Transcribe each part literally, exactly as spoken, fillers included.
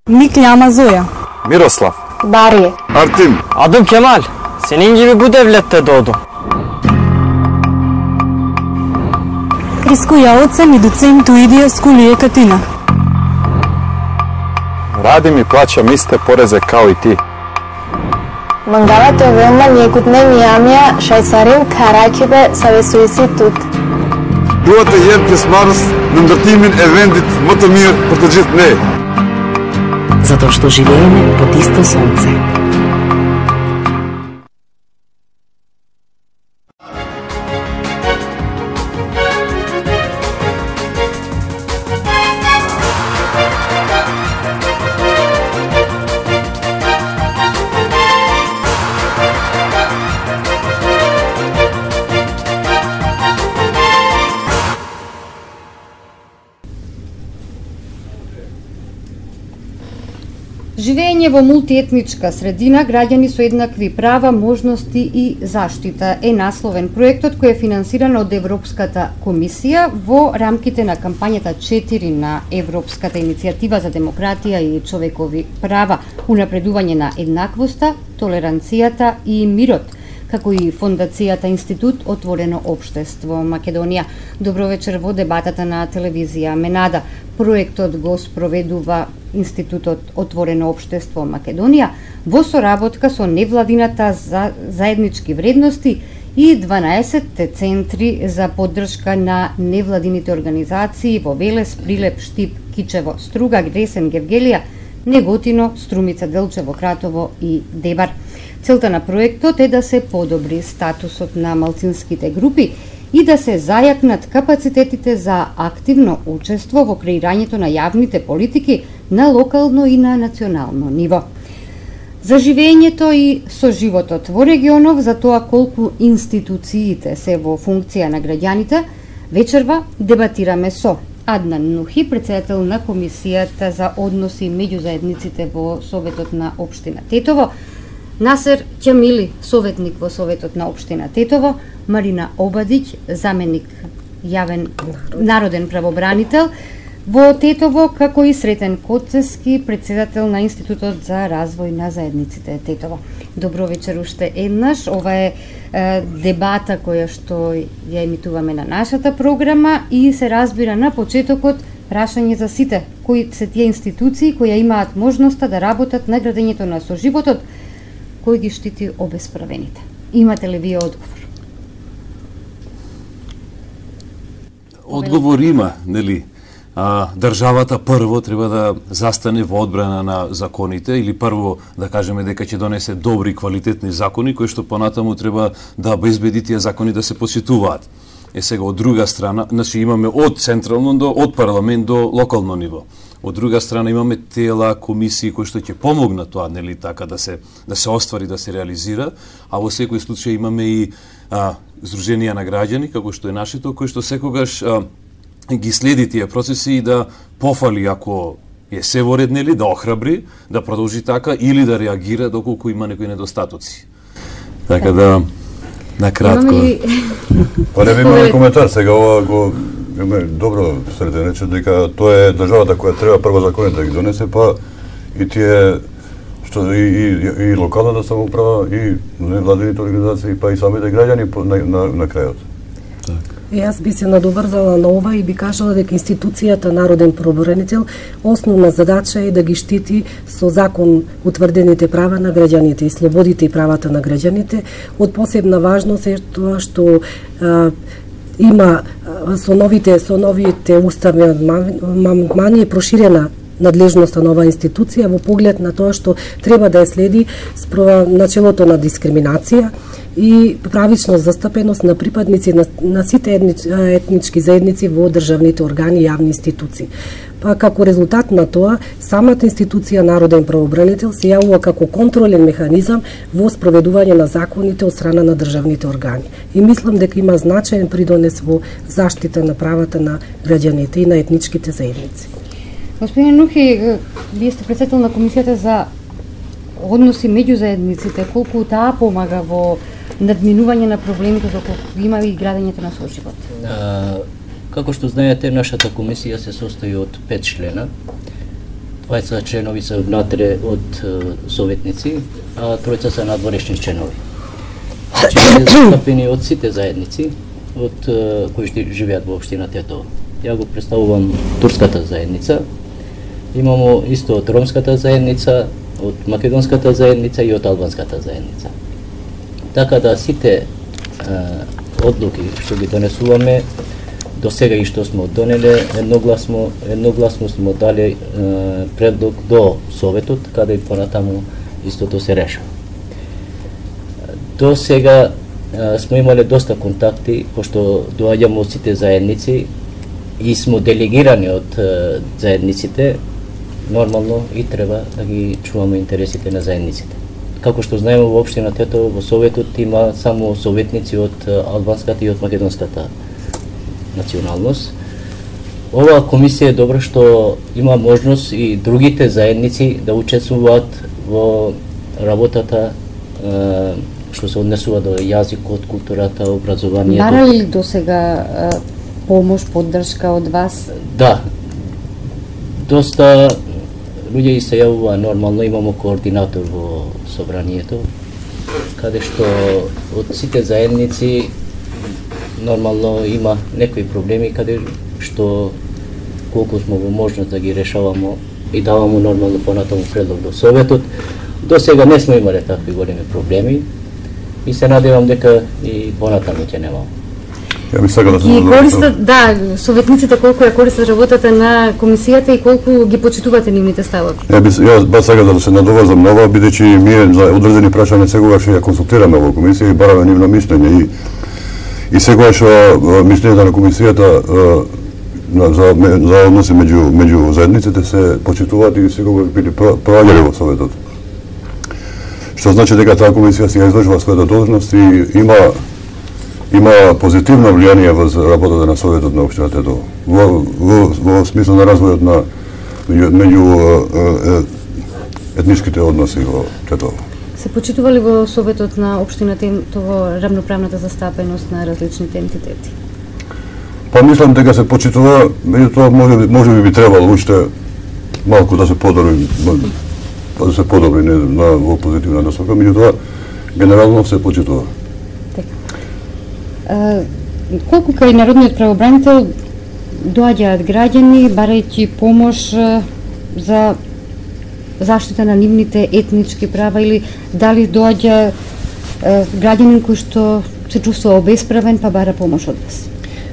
Микляма Зоја. Мирослав. Барие. Артим. Адым Кемал. Сенин gibi bu devlette doğdum. Криско Јаоцен и доцент Уидија Скулије Катина. Радим и плаќам исте порезе као и ти. Мангалат овема нијекутне нијамија шајсарин каракибе савесуиси тут. Дуата јерпес марс нандартимин евендит мотомир протоджит не. Затоа што живееме под исто сонце. Живење во мултиетничка средина, граѓани со еднакви права, можности и заштита е насловен проектот кој е финансиран од Европската комисија во рамките на кампањата четири на Европската иницијатива за демократија и човекови права, унапредување на еднаквоста, толеранцијата и мирот, како и фондацијата Институт Отворено општество Македонија. Добро вечер во дебатата на телевизија Менада. Проектот го спроведува Институтот Отворено општество Македонија во соработка со невладината за заеднички вредности и дванаесет центри за поддршка на невладините организации во Велес, Прилеп, Штип, Кичево, Струга, Гресен, Гевгелија, Неготино, Струмица, Делчево, Кратово и Дебар. Целта на проектот е да се подобри статусот на малцинските групи и да се зајакнат капацитетите за активно учество во креирањето на јавните политики на локално и на национално ниво. За живењето и соживотот во регионов, за тоа колку институциите се во функција на граѓаните, вечерва дебатираме со Аднан Нухи, председател на Комисијата за односи меѓу заедниците во Советот на општина Тетово, Насер Ќамили, советник во Советот на општина Тетово, Марина Обадиќ, заменик јавен народен правобранител во Тетово, како и Сретен Коцески, председател на Институтот за развој на заедниците Тетово. Добро вечер уште еднаш. Ова е, е дебата која што ја емитуваме на нашата програма и се разбира на почетокот прашање за сите кои се тие институции кои имаат можноста да работат на градењето на соживотот, кој ги штити обесправените. Имате ли вие одговор? Одговор има, нели? А, државата прво треба да застане во одбрана на законите или прво да кажеме дека ќе донесе добри квалитетни закони кои што понатаму треба да обезбеди тие закони да се посетуваат. Е сега од друга страна, значи имаме од централно до од парламент до локално ниво. Од друга страна имаме тела, комисии кои што ќе помогнат тоа, нели така да се да се оствари, да се реализира, а во секој случај имаме и а, здруженија на граѓани како што е нашето, кои што секогаш а, ги следи тие процеси и да пофали ако е се во ред, нели, да охрабри, да продолжи така или да реагира доколку има некои недостатоци. Така да на кратко. Па не би имаме коментар сега, ова го добро Сретен рече дека тоа е државата која треба прво законите да ги донесе, па и тие што и, и, и локалната самоуправа и невладините организации, па и самите граѓани на, на, на крајот. Јас би се надоврзала на ова и би кажала дека институцијата Народен правобранител основна задача е да ги штити со закон утврдените права на граѓаните и слободите и правата на граѓаните. Од посебна важност е тоа што а, има со новите со новите уставни амандмани е проширена надлежноста на оваа институција во поглед на тоа што треба да ја следи начелото на дискриминација и правична застапеност на припадници на, на сите етнич, етнички заедници во државните органи и јавни институции. Па како резултат на тоа, самата институција Народен правобранител се јавува како контролен механизам во спроведување на законите од страна на државните органи. И мислам дека има значаен придонес во заштита на правата на граѓаните и на етничките заедници. Господин Нухи, вие сте председател на Комисијата за односи меѓу заедниците. Колку таа помага во надминување на проблемите доколку има и градењето на соживот? Како што знаете, нашата комисија се состои од пет члена. дваесет членови се внатре од советници, а тројца се надворешни членови. Значи, се застапени од сите заедници, од кои што живеат во општина Тетово. Ја го представувам турската заедница, имамо исто од ромската заедница, од македонската заедница и од албанската заедница. Така да сите одлуки што ги донесуваме, до сега и што сме донеле, едногласно, едногласно сме дали е, предлог до Советот, каде и понатаму истото се решава. До сега е, сме имале доста контакти, пошто доаѓаме од сите заедници и сме делегирани од е, заедниците, нормално и треба да ги чуваме интересите на заедниците. Како што знаеме во општина Тетово, во Советот има само советници од албанската и од македонската националност. Оваа комисија е добра што има можност и другите заедници да учествуваат во работата е, што се однесува до јазикот, културата, образованието. Барали ли до сега помош, поддршка од вас? Да. Доста луѓе се јавува, нормално имамо координатор во собранието, каде што од сите заедници нормално има некои проблеми каде што колку сме во можност да ги решаваме и даваме нормално понатаму предлог до Советот. До сега не сме имале такви големи проблеми и се надевам дека и понатаму ќе немаме. Ја би сакал да се ги користат, да, советниците колку ја користат работата на комисијата и колку ги почитувате нивните ставови. Ја би ја ба сакал да се надоврзам на ова, бидејќи ние за одредени прашања сегогаш ја консултираме во комисија и бараме нивно мислење и и сегогаш мислењето на комисијата за за односи меѓу меѓу заедниците се почитуваат и сегогаш били проаѓали во Советот. Што значи дека таа комисија си ја издржува својата должност и има има позитивно влијание во работата на Советот на општина Тетово. Во, во, во смисло на развојот на меѓу, меѓу етничките односи во Тетово. Се почитува ли во Советот на општина Тетово рамноправната застапеност на различните ентитети? Па мислам дека се почитува, меѓутоа може, може би би требало уште малку да се подобри, да се подобри не, на, во позитивна насока, меѓутоа генерално се почитува. Uh, колку кај народниот правобранител доаѓаат граѓани барајќи помош uh, за заштита на нивните етнички права или дали доаѓа uh, граѓанин кој што се чувствува обесправен па бара помош од вас?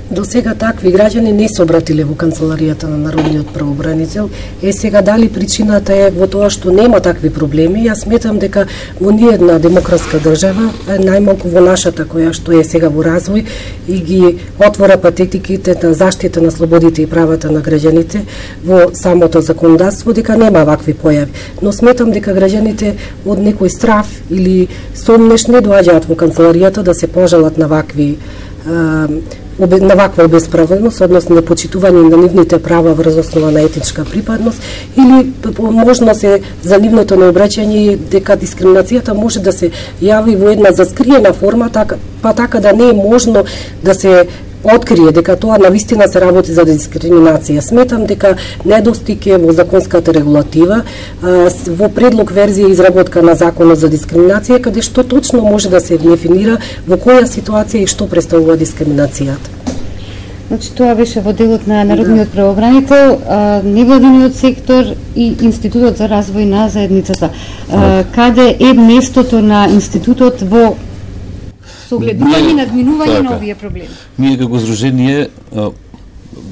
До сега такви граѓани не се обратиле во канцеларијата на народниот правобранител. Е сега дали причината е во тоа што нема такви проблеми? Јас сметам дека во ниедна демократска држава, најмалку во нашата која што е сега во развој и ги отвора патетиките на заштита на слободите и правата на граѓаните во самото законодавство, дека нема вакви појави. Но сметам дека граѓаните од некој страв или сомнеш не доаѓаат во канцеларијата да се пожалат на вакви на ваква обесправеност, односно непочитување на нивните права врз основа на етничка припадност или можно се за нивното необраќање дека дискриминацијата може да се јави во една заскриена форма, така, па така да не е можно да се открие дека тоа навистина се работи за дискриминација. Сметам дека недостиг е во законската регулатива, во предлог верзија изработка на законот за дискриминација, каде што точно може да се дефинира во која ситуација и што представува дискриминацијата. Значи тоа беше во делот на народниот правобранител, невладиниот сектор и Институтот за развој на заедницата. Каде е местото на институтот во согледување и надминување на овие проблеми? Ние како здружение,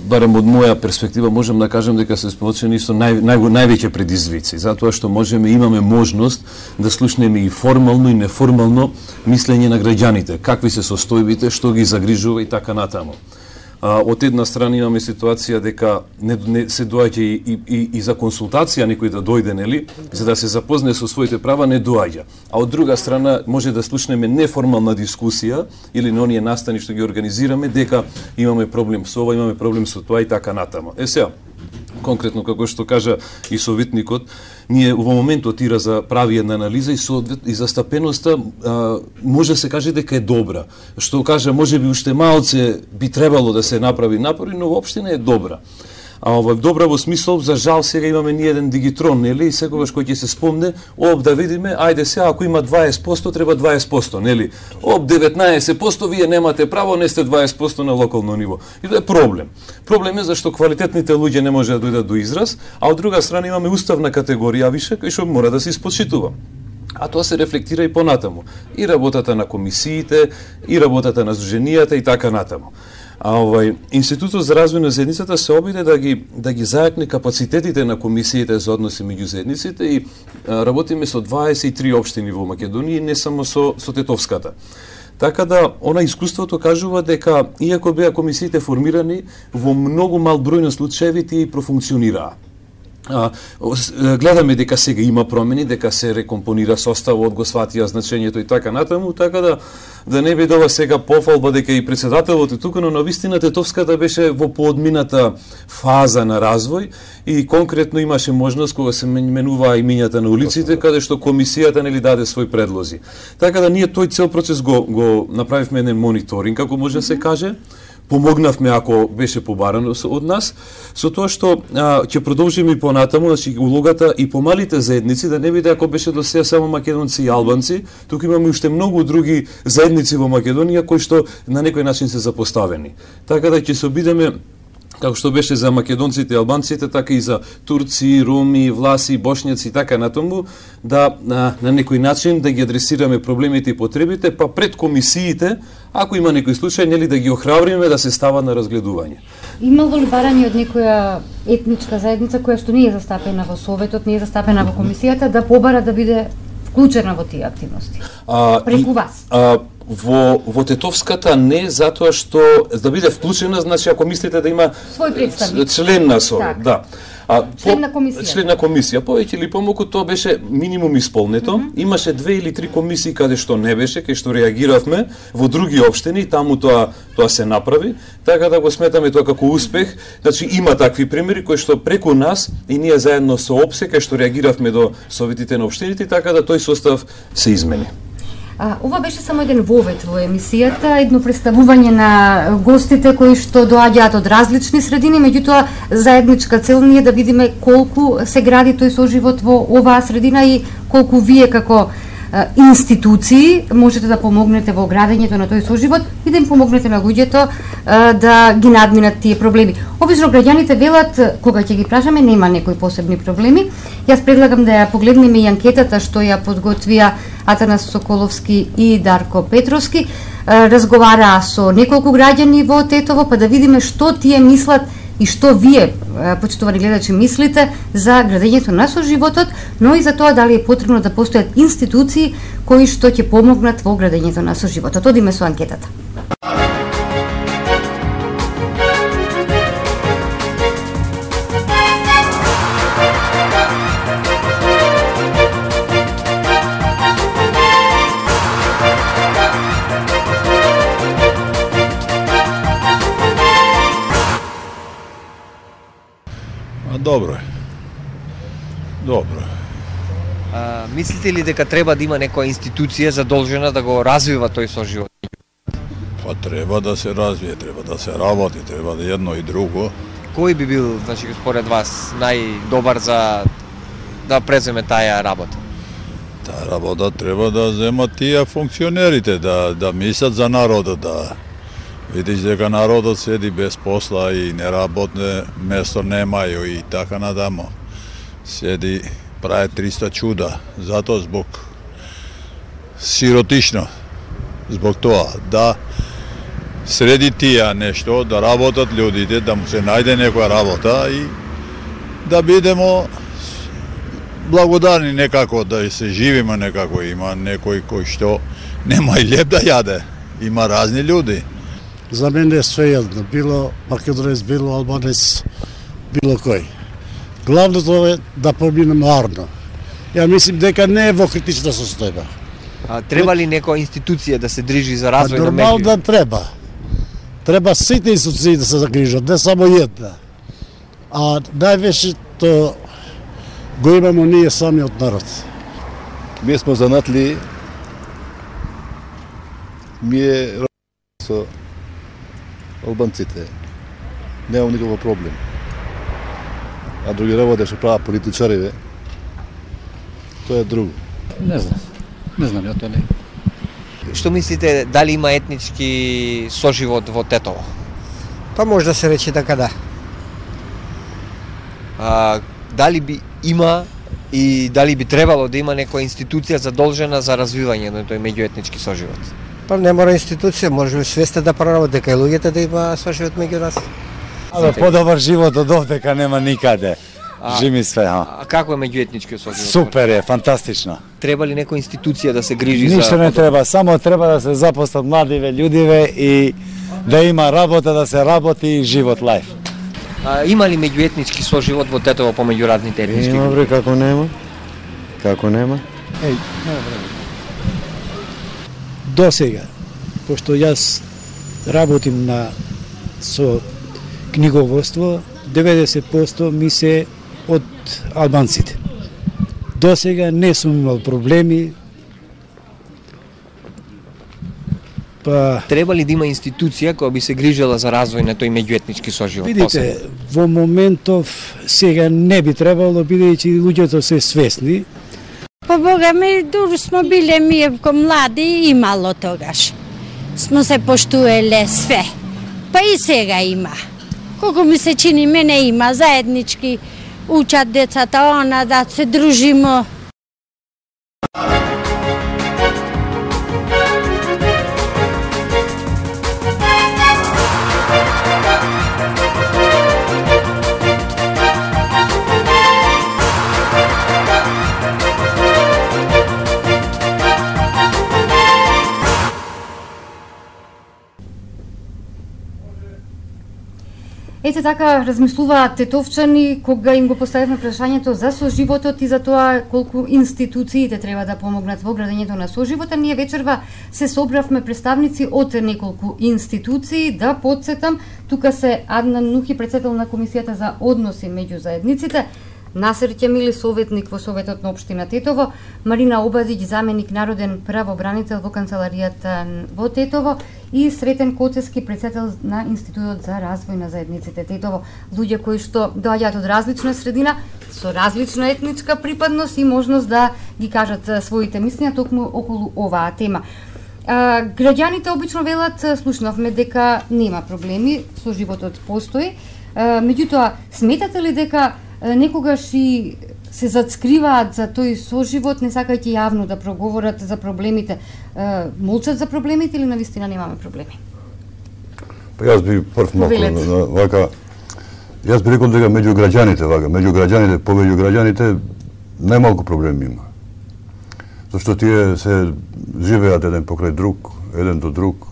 барем од моја перспектива, можем да кажем дека се сполучени со нај, нај, највеќе предизвици, затоа што можеме имаме можност да слушнеме и формално и неформално мислење на граѓаните, какви се состојбите, што ги загрижува и така натаму. А, од една страна имаме ситуација дека не, не се доаѓа и, и, и, и за консултација некој да дојде, нели, за да се запознае со своите права, не доаѓа. А од друга страна може да слушнеме неформална дискусија или на оние настани што ги организираме дека имаме проблем со ова, имаме проблем со тоа и така натаму. Е сега, конкретно како што кажа и советникот, ние во моментот ира за прави една анализа и соодвет и застапеноста а, може се каже дека е добра. Што кажа, може би уште малце би требало да се направи напори, но воопшто не е добра. А ова добра во смисол, за жал сега имаме ни еден дигитрон, нели? И секогаш кој ќе се спомне, оп да видиме, ајде сега ако има дваесет проценти треба дваесет проценти, нели? Оп деветнаесет проценти вие немате право, не сте дваесет проценти на локално ниво. И тоа е проблем. Проблем е зашто квалитетните луѓе не може да дојдат до израз, а од друга страна имаме уставна категорија више кој што мора да се испочитува. А тоа се рефлектира и понатаму. И работата на комисиите, и работата на здруженијата и така натаму. А овај Институтот за развој на заедницата се обиде да ги да ги зајакне капацитетите на комисиите за односи меѓу заедниците и а, работиме со дваесет и три општини во Македонија, не само со со Тетовската. Така да, она искуството кажува дека, иако беа комисиите формирани, во многу мал број на случаеви тие и профункционираа. А, гледаме дека сега има промени, дека се рекомпонира составот, го сватија значењето и така натаму, така да да не биде ова сега пофалба дека и председателот е тука, но на вистина Тетовската беше во поодмината фаза на развој и конкретно имаше можност кога се менуваа имињата на улиците, каде што комисијата нели даде свој предлози. Така да ние тој цел процес го го направивме еден мониторинг, како може да се каже. Помогнавме ако беше побарано од нас, со тоа што а, ќе продолжиме и понатаму, значи улогата и помалите заедници, да не биде ако беше до сега само македонци и албанци, тука имаме уште многу други заедници во Македонија кои што на некој начин се запоставени. Така да ќе се обидеме, како што беше за македонците и албанците, така и за турци, роми, власи, бошњаци и така натаму, да на, на некој начин да ги адресираме проблемите и потребите, па пред комисиите, ако има некој случај, нели да ги охрабриме да се става на разгледување. Имало ли барање од некоја етничка заедница која што не е застапена во Советот, не е застапена во комисијата, да побара да биде вклучена во тие активности? А, преку и, вас? А, Во, во Тетовската не, затоа што да биде вклучена, значи ако мислите да има свој представник, член на Совет, да. А, член на комисија. Член на комисија, повеќе или помалку тоа беше минимум исполнето. Mm -hmm. Имаше две или три комисии каде што не беше, кај што реагиравме во други општини, таму тоа тоа се направи, така да го сметаме тоа како успех. Значи има такви примери кои што преку нас и ние заедно со ОПСЕ кај што реагиравме до советите на општините, така да тој состав се измени. А, ова беше само еден вовет во емисијата, едно представување на гостите кои што доаѓаат од различни средини, меѓутоа заедничка цел ни е да видиме колку се гради тој соживот во оваа средина и колку вие како а, институции можете да помогнете во градењето на тој соживот и да им помогнете на луѓето а, да ги надминат тие проблеми. Обично граѓаните велат, кога ќе ги прашаме, нема некои посебни проблеми. Јас предлагам да ја погледнеме и анкетата што ја подготвија Атанас Соколовски и Дарко Петровски. Разговараа со неколку граѓани во Тетово, па да видиме што тие мислат и што вие, почитувани гледачи, мислите за градењето на соживотот, но и за тоа дали е потребно да постојат институции кои што ќе помогнат во градењето на соживотот. Одиме со анкетата. Добро е. Добро е. А, мислите ли дека треба да има некоја институција задолжена да го развива тој соживот? Па треба да се развие, треба да се работи, треба да едно и друго. Кој би бил, значи, според вас, најдобар за да преземе таа работа? Таа работа треба да земат тие функционерите, да да мислат за народот, да видиш дека народот седи без посла и неработне место немају и така надаму. Седи, прави триста чуда, затоа због сиротично, због тоа, да среди тие нешто, да работат луѓите, да му се најде некоја работа и да бидемо благодарни некако, да се живиме некако. Има некој кој што нема и леп да јаде, има разни луѓи. За мене е своједно, било македонец, било албанец, било кој. Главното е да поминеме арно. Ја мислим дека не е во критична состојба. А треба ли некоја институција да се држи за развој на нормално да треба. Треба сите институции да се загрижат, не само една. А највеќе то го имамо ние самиот народ. Ние сме занатли, ми е со албанците. Немам никаков проблем. а други работи што прават политичарите, тоа е друго. Не знам. Не знам, ја тоа не. Што мислите, дали има етнички соживот во Тетово? Па може да се рече дека да. А, дали би има и дали би требало да има некоја институција задолжена за развивање на тој меѓуетнички соживот? Па не мора институција, може би свесте да прави дека и луѓето да има соживот меѓу нас. Абе, подобар живот од овдека нема никаде. А, Жими све, а. А како е меѓуетничкиот соживот? Супер е, фантастично. Треба ли некоја институција да се грижи Ништо за... Ништо не треба, само треба да се запослат младиве, људиве и да има работа, да се работи и живот лајф. А, има ли меѓуетнички соживот во Тетово помеѓу разните етнички? Има, бре, како нема. Како нема. Еј, до сега, пошто јас работим на со книговодство, деветдесет проценти ми се од албанците. До сега не сум имал проблеми. Па треба ли да има институција која би се грижела за развој на тој меѓуетнички соживот? Видите, во моментов сега не би требало, бидејќи луѓето се свесни. Па бога ми, дури смо биле ми ко млади, имало тогаш. Смо се поштуеле све. Па и сега има. Колку ми се чини, мене има заеднички, учат децата, она да се дружимо. Ете така размислуваат тетовчани кога им го поставивме прашањето за соживотот и за тоа колку институциите треба да помогнат во градењето на соживота. Ние вечерва се собравме представници од неколку институции. Да подсетам, тука се Аднан Нухи, председател на Комисијата за односи меѓу заедниците, Насер Ќемили, советник во Советот на општина Тетово, Марина Обадиќ, заменик народен правобранител во канцеларијата во Тетово и Сретен Коцески, председател на Институтот за развој на заедниците Тетово. Луѓе кои што доаѓаат од различна средина, со различна етничка припадност и можност да ги кажат своите мислења токму околу оваа тема. А, граѓаните обично велат, слушнавме дека нема проблеми, соживотот постои. А, меѓутоа, сметате ли дека некогаш и се зацкриваат за тој соживот, не сакајќи јавно да проговорат за проблемите, молчат за проблемите или навистина немаме проблеми? Па јас би прв малку вака, јас би рекол дека меѓу граѓаните, вака, меѓу граѓаните, помеѓу граѓаните најмалку проблеми има. Зашто тие се живеат еден покрај друг, еден до друг,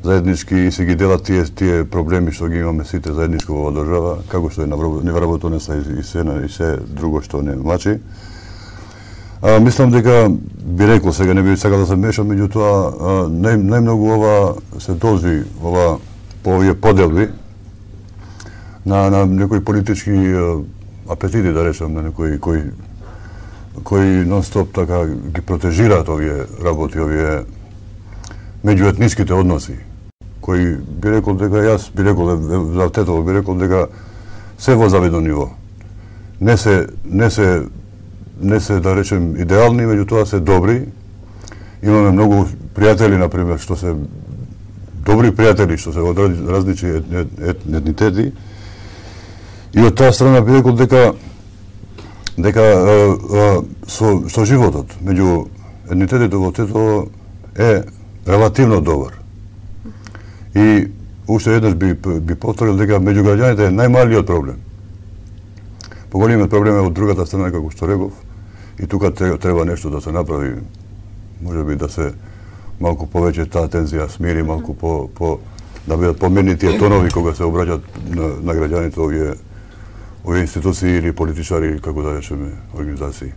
заеднички и се ги делат тие тие проблеми што ги имаме сите заедничко во држава, како што е невработеност и се и се друго што не мачи. А, мислам дека би рекол, сега не би сакал да се мешам, меѓутоа нај најмногу ова се должи ова по овие поделби на на некои политички апетити, да речам, на некои кои кои нон-стоп така ги протежираат овие работи, овие меѓуетничките односи, кои би рекол дека јас би рекол за Тетово би рекол дека се во завидно ниво. Не се не се не се да речем идеални, меѓутоа се добри. Имаме многу пријатели на пример што се добри пријатели што се од различни етнитети. И од таа страна би рекол дека дека а, а, со со животот меѓу етнитетите во Тетово е релативно добар. И уште еднаш би, би повторил дека меѓу граѓаните е најмалиот проблем. Поголемиот проблем е од другата страна, како што реков, и тука треба нешто да се направи. Може би да се малку повеќе таа тензија смири, малку по, по да бидат поменни тие тонови кога се обраќаат на, на граѓаните овие овие институции или политичари, како да речеме, организации.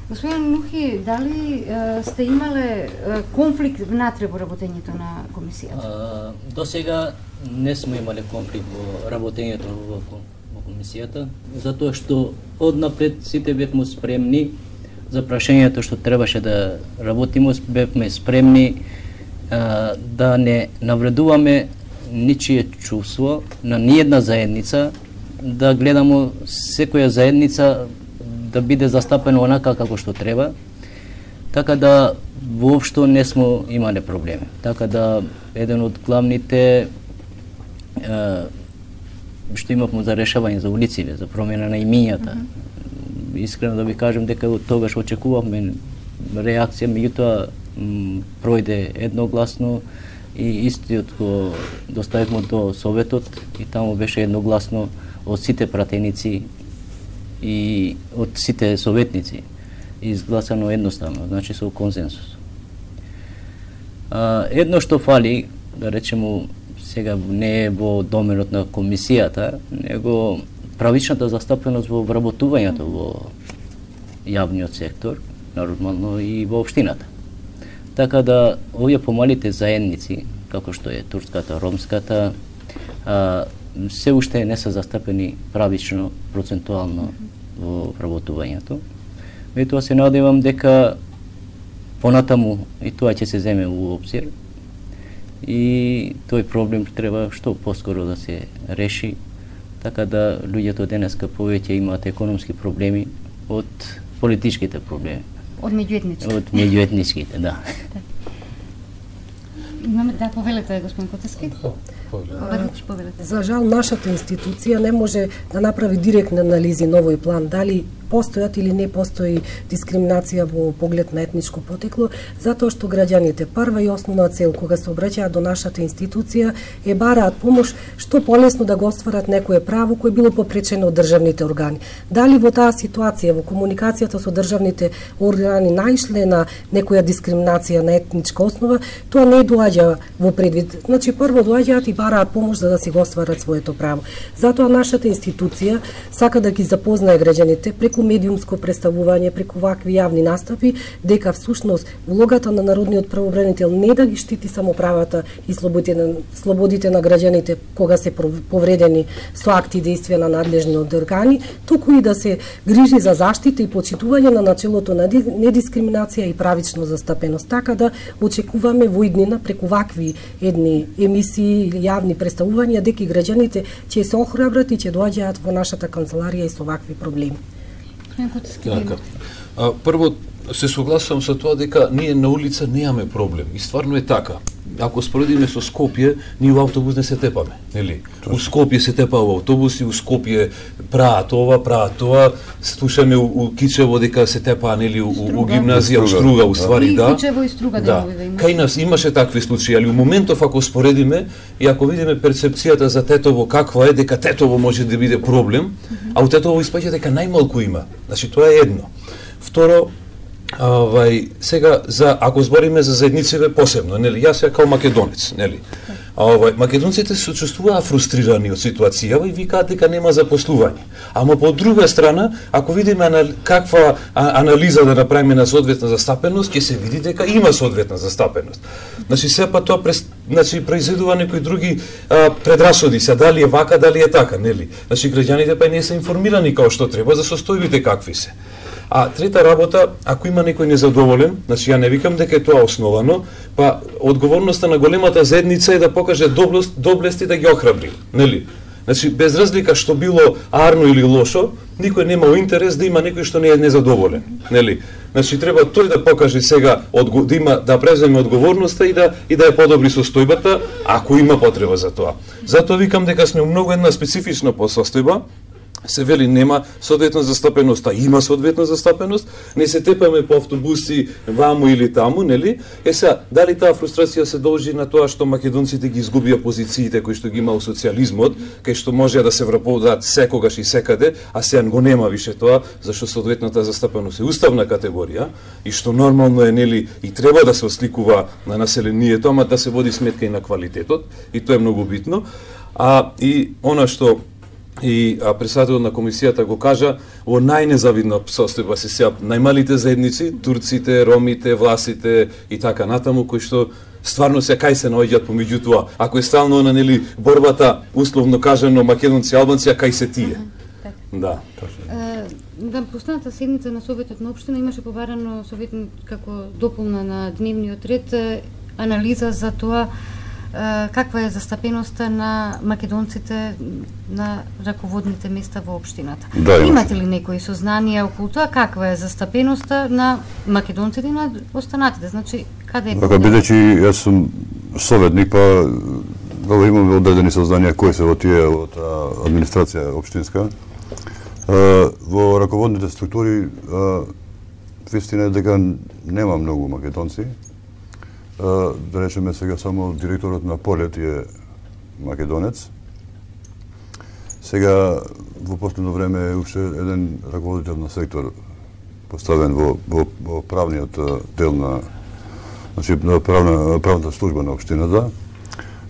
Господин Нухи, дали е, сте имале е, конфликт внатре во работењето на комисијата? До сега не сме имале конфликт во работењето во, во комисијата, затоа што однапред сите бевме спремни за прашањето што требаше да работиме, бевме спремни а, да не навредуваме ничие чувство на ниедна заедница, да гледамо секоја заедница да биде застапена онака како што треба, така да воопшто не смо имале проблеми. Така да еден од главните е, што имавме за решавање за улиците, за промена на имињата. Mm -hmm. Искрено да ви кажем дека од тогаш очекувавме реакција, меѓутоа пројде едногласно и истиот го доставивме до Советот и таму беше едногласно од сите пратеници и од сите советници изгласано едноставно, значи со консенсус. А, едно што фали, да речемо, сега не е во доменот на комисијата, него правичната застапеност во вработувањето во јавниот сектор, нормално и во општината. Така да овие помалите заедници, како што е турската, ромската, а, се уште не се застапени правично, процентуално во вработувањето. И тоа се надевам дека понатаму и тоа ќе се земе во обзир и тој проблем треба што поскоро да се реши, така да луѓето денеска повеќе имаат економски проблеми од политичките проблеми. Од меѓуетничките. Од меѓуетничките, да. Имаме, да, повелете, господин Котески. За жал, нашата институција не може да направи директни анализи на овој план, дали постојат или не постои дискриминација во поглед на етничко потекло, затоа што граѓаните прва и основна цел кога се обраќаат до нашата институција е бараат помош што полесно да го остварат некое право кое било попречено од државните органи. Дали во таа ситуација, во комуникацијата со државните органи наишле на некоја дискриминација на етничка основа, тоа не доаѓа во предвид. Значи, прво доаѓаат и бараат помош за да си го остварат своето право. Затоа нашата институција сака да ги запознае граѓаните преку медиумско представување, преку вакви јавни настапи, дека всушност улогата на народниот правобранител не да ги штити само правата и слободите на, слободите на граѓаните кога се повредени со акти и действија на надлежните органи, туку и да се грижи за заштита и почитување на начелото на недискриминација и правично застапеност. Така да очекуваме во иднина преку вакви едни емисии или јавни представувања дека граѓаните ќе се охрабрат и ќе доаѓаат во нашата канцеларија и со вакви проблеми. Така. А, прво се согласувам со тоа дека ние на улица немаме проблем и стварно е така. Ако споредиме со Скопје, ние во автобус не се тепаме, нели? У Скопје се тепа во автобуси, у Скопје праат ова, праат тоа, слушаме у, у Кичево дека се тепа, нели, у, у гимназија, у Струга, у ствари, да. И Кичево и Струга да. делови да имаше. Кај нас имаше такви случаи, али у моментов ако споредиме и ако видиме перцепцијата за Тетово каква е, дека Тетово може да биде проблем, mm -hmm. а у Тетово испаѓа дека најмалку има. Значи тоа е едно. Второ, Авај, сега за ако збориме за заедниците посебно, нели, јас ја као македонец, нели. Авај, македонците се чувствуваа фрустрирани од ситуацијава и викаат дека нема запослување. Ама по друга страна, ако видиме анали, каква а, анализа да направиме на соодветна застапеност, ќе се види дека има соодветна застапеност. Значи сепа тоа прес, значи произведува некои други а, предрасуди, се дали е вака, дали е така, нели. Значи граѓаните па не се информирани како што треба за состојбите какви се. А трета работа, ако има некој незадоволен, значи ја не викам дека е тоа основано, па одговорноста на големата заедница е да покаже доблест, доблест и да ги охрабри, нели? Значи без разлика што било арно или лошо, никој немал интерес да има некој што не е незадоволен, нели? Значи треба тој да покаже сега да има да преземе одговорноста и да и да ја подобри состојбата, ако има потреба за тоа. Затоа викам дека сме многу една специфична состојба. Се вели нема соодветна застапеност, а има соодветна застапеност, не се тепаме по автобуси ваму или таму, нели? Е сега, дали таа фрустрација се должи на тоа што македонците ги изгубија позициите кои што ги имал социјализмот, кај што може да се вработат секогаш и секаде, а сега го нема више тоа, зашто соодветната застапеност е уставна категорија и што нормално е, нели, и треба да се осликува на населението, ама да се води сметка и на квалитетот, и тоа е многу битно. А и она што и председателот на комисијата го кажа, во најнезавидна состојба се сега најмалите заедници, турците, ромите, власите и така натаму, кои што стварно се кај се наоѓаат помеѓу тоа. Ако е стално на, нели, борбата, условно кажано, македонци и албанци, а кај се тие? Так. Да. Да, последната седница на Советот на општина имаше побарано совет како дополна на дневниот ред анализа за тоа каква е застапеноста на македонците на раководните места во општината. Да, имате ли некои сознанија околу тоа каква е застапеноста на македонците и на останатите? Значи, каде е? Така, бидејќи јас сум советник, па да имам одредени сознанија кои се во тие од администрација општинска. Во раководните структури вистина е дека нема многу македонци. Да речеме сега само директорот на Полет е македонец. Сега во последно време е уште еден раководител на сектор поставен во, во, во правниот дел на, значи, на правна, правната служба на општината.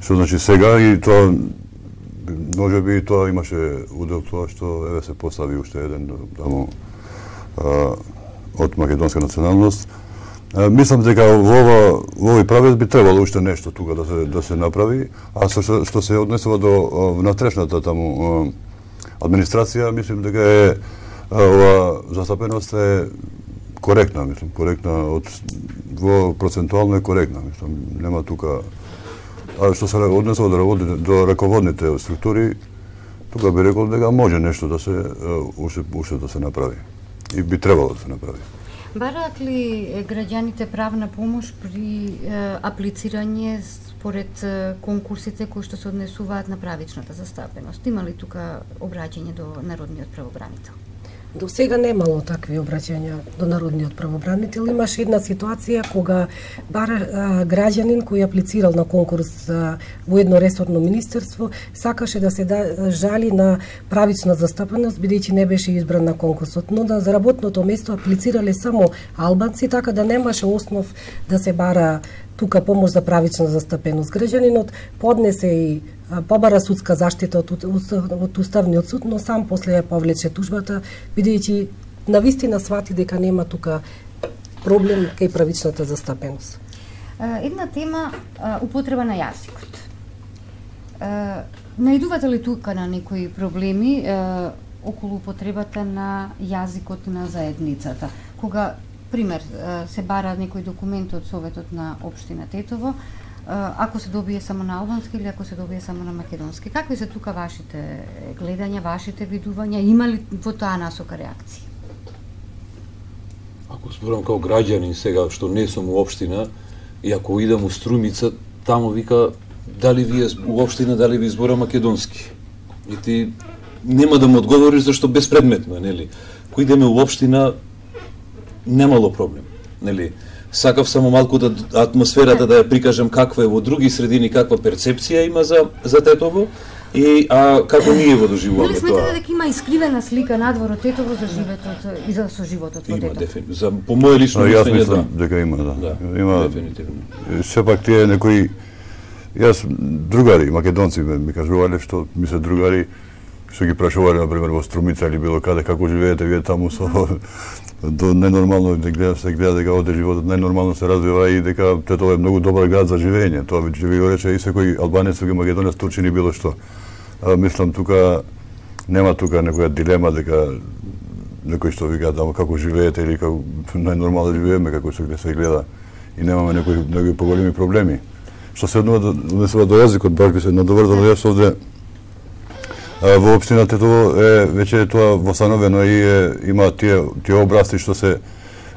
Што значи сега и тоа може би тоа имаше удел тоа што еве се постави уште еден таму а, од македонска националност. А, мислам дека во ова во овој правец би требало уште нешто тука да се да се направи, а со што, што се однесува до внатрешната таму а, администрација, мислам дека е ова застапеност е коректна, мислам, коректна од во процентуално е коректна, мислам, нема тука. А што се однесува до, до раководните структури, тука би рекол дека може нешто да се уште, уште да се направи. И би требало да се направи. Бараат ли граѓаните правна помош при е, аплицирање според е, конкурсите кои што се однесуваат на правичната застапеност? Има ли тука обраќање до народниот правобранител? До сега немало такви обраќања до народниот правобранител. Имаше една ситуација кога бар а, граѓанин кој аплицирал на конкурс а, во едно ресорно министерство сакаше да се да, жали на правична застапеност бидејќи не беше избран на конкурсот, но да за работното место аплицирале само албанци, така да немаше основ да се бара тука помош за правична застапеност. Граѓанинот поднесе и побара судска заштита од, од Уставниот суд, но сам после ја повлече тужбата, бидејќи навистина свати дека нема тука проблем кај правичната застапеност. Една тема, употреба на јазикот. Наидувате ли тука на некои проблеми околу употребата на јазикот на заедницата? Кога, пример, се бара некој документ од Советот на општина Тетово, ако се добие само на албански или ако се добие само на македонски. Какви се тука вашите гледања, вашите видувања? Има ли во таа насока реакции? Ако зборам као граѓанин сега, што не сум у општина, и ако идам у Струмица, тамо вика, дали вие у општина, дали ви збора македонски? И ти нема да му одговориш зашто безпредметно е, нели? Кој идеме у општина, немало проблем, нели? Сакав само малку да атмосферата да ја прикажам каква е во други средини, каква перцепција има за за Тетово и а како ние го доживуваме тоа. Дали сметате дека има искривена слика надвор од Тетово за животот и за соживотот во Тетово? Има дефинитивно. За по моје лично мислење, јас мислам да. дека има, да. да има дефинитивно. Сепак тие некои јас другари македонци ми кажувале што ми се другари што ги прашувале на пример во Струмица или било каде како живеете вие таму со до најнормално да гледа се гледа дека оде животот најнормално се развива и дека Тетово е многу добар град за живење. Тоа би ви го рече и секој албанец, секој македонец, турчин и било што. А, мислам тука нема тука некоја дилема дека некој што вика таму како живеете или како најнормално живееме како што се гледа и немаме некои некои поголеми проблеми. Што се однесува до јазикот, баш би се надоврзал јас овде. Во општина Тетово е веќе тоа восстановено и е, има тие тие образци што се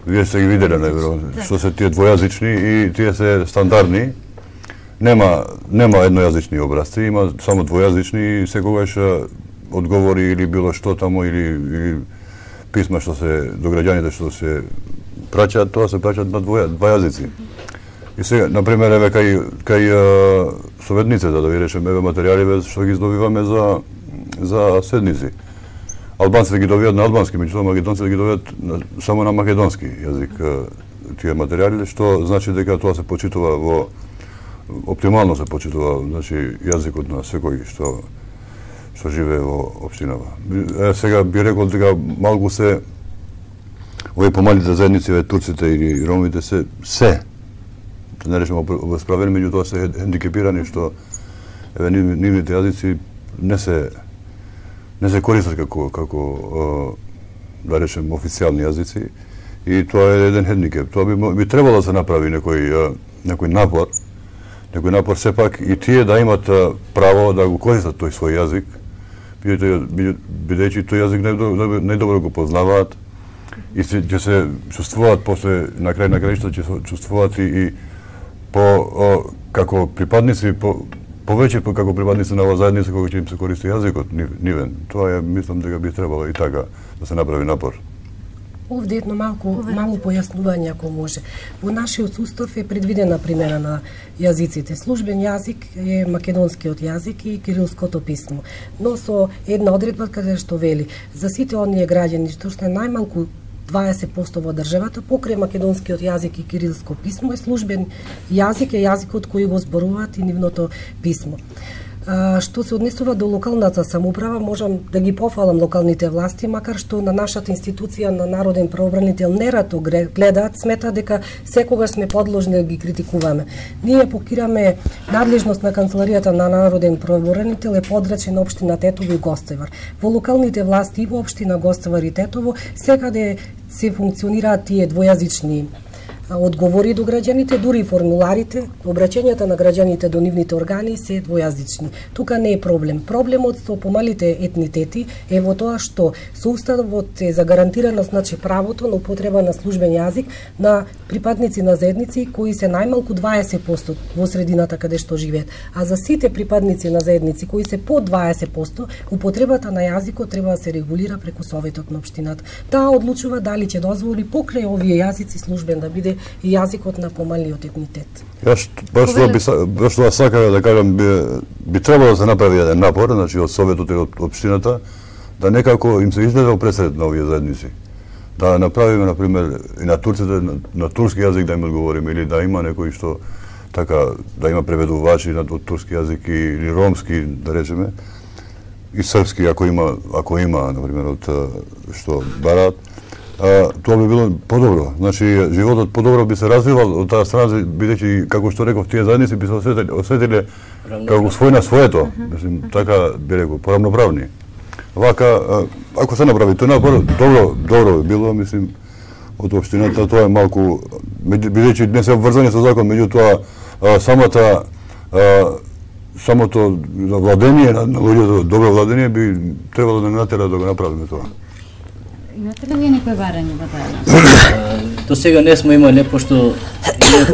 вие се ги виделе, најверојатно, што се тие двојазични и тие се стандардни. Нема нема еднојазични образци, има само двојазични и секогаш одговори или било што таму или, или писма што се до граѓаните што се праќаат, тоа се праќаат на двоја, два јазици. И сега, на пример, еве кај кај советниците, да ви речеме, еве материјали што ги здобиваме за за седници. Албанците ги добијат на албански, меѓутоа македонците ги добијат само на македонски јазик тие материјали, што значи дека тоа се почитува во оптимално се почитува, значи јазикот на секој што што живее во општинава. Е, сега би рекол дека малку се овие помалите заедници, овие турците или ромите се се да не речеме обесправени, меѓутоа се хендикепирани што еве нивните јазици не се не се користат како како да речем официјални јазици и тоа е еден хендикеп. Тоа би би требало да се направи некој некој напор некој напор сепак и тие да имат право да го користат тој свој јазик, бидејќи тој јазик најдобро го познаваат и ќе се чувствуваат после на крај на крајшто ќе се чувствуваат и по како припадници по повеќе како припадници на оваа заедница кога ќе им се користи јазикот нивен. Тоа е, мислам дека би требало и така да се направи напор. Овде едно малку мало појаснување ако може. Во нашиот устав е предвидена примена на јазиците. Службен јазик е македонскиот јазик и кирилското писмо. Но со една одредба каде што вели за сите оние граѓани што се најмалку дваесет проценти во државата покрај македонскиот јазик и кирилско писмо е службен јазик е јазикот кој го зборуваат и нивното писмо. А, што се однесува до локалната самоуправа, можам да ги пофалам локалните власти, макар што на нашата институција на народен правобранител нерато гледаат, сметаат дека секогаш сме подложни да ги критикуваме. Ние покираме надлежност на канцеларијата на народен правобранител е подрачен на општина Тетово и Гостивар. Во локалните власти и во општина Гостивар и Тетово секаде се функционираат тие двојазични одговори до граѓаните, дури и формуларите, обраќањата на граѓаните до нивните органи се двојазични. Тука не е проблем. Проблемот со помалите етнитети е во тоа што со уставот е загарантирано значи правото на употреба на службен јазик на припадници на заедници кои се најмалку дваесет проценти во средината каде што живеат. А за сите припадници на заедници кои се под дваесет проценти, употребата на јазикот треба да се регулира преку советот на општината. Таа одлучува дали ќе дозволи покрај овие јазици службен да биде и јазикот на помалиот етнитет. Јас баш тоа би баш тоа сакав да кажам би, би требало да се направи еден напор, значи од советот и од општината да некако им се изгледа пресред на овие заедници. Да направиме на пример и на турците на, на турски јазик да им одговориме или да има некој што така да има преведувачи на од турски јазик или ромски да речеме и српски ако има ако има на пример од што бараат. А, тоа би било подобро. Значи, животот подобро би се развивал од таа страна, бидејќи, како што реков, тие заедници би се осетили, осетили како свој на своето. Мислим, така би рекол, поравноправни. Вака, ако се направи тој напор, добро, добро би било, мислим, од општината, тоа е малку, бидејќи не се обврзани со закон, меѓутоа, самата, а, самото владение на луѓето, добро владение би требало да натера да го направиме тоа. Имате ли вие некој барање во таа? До сега не сме имале, пошто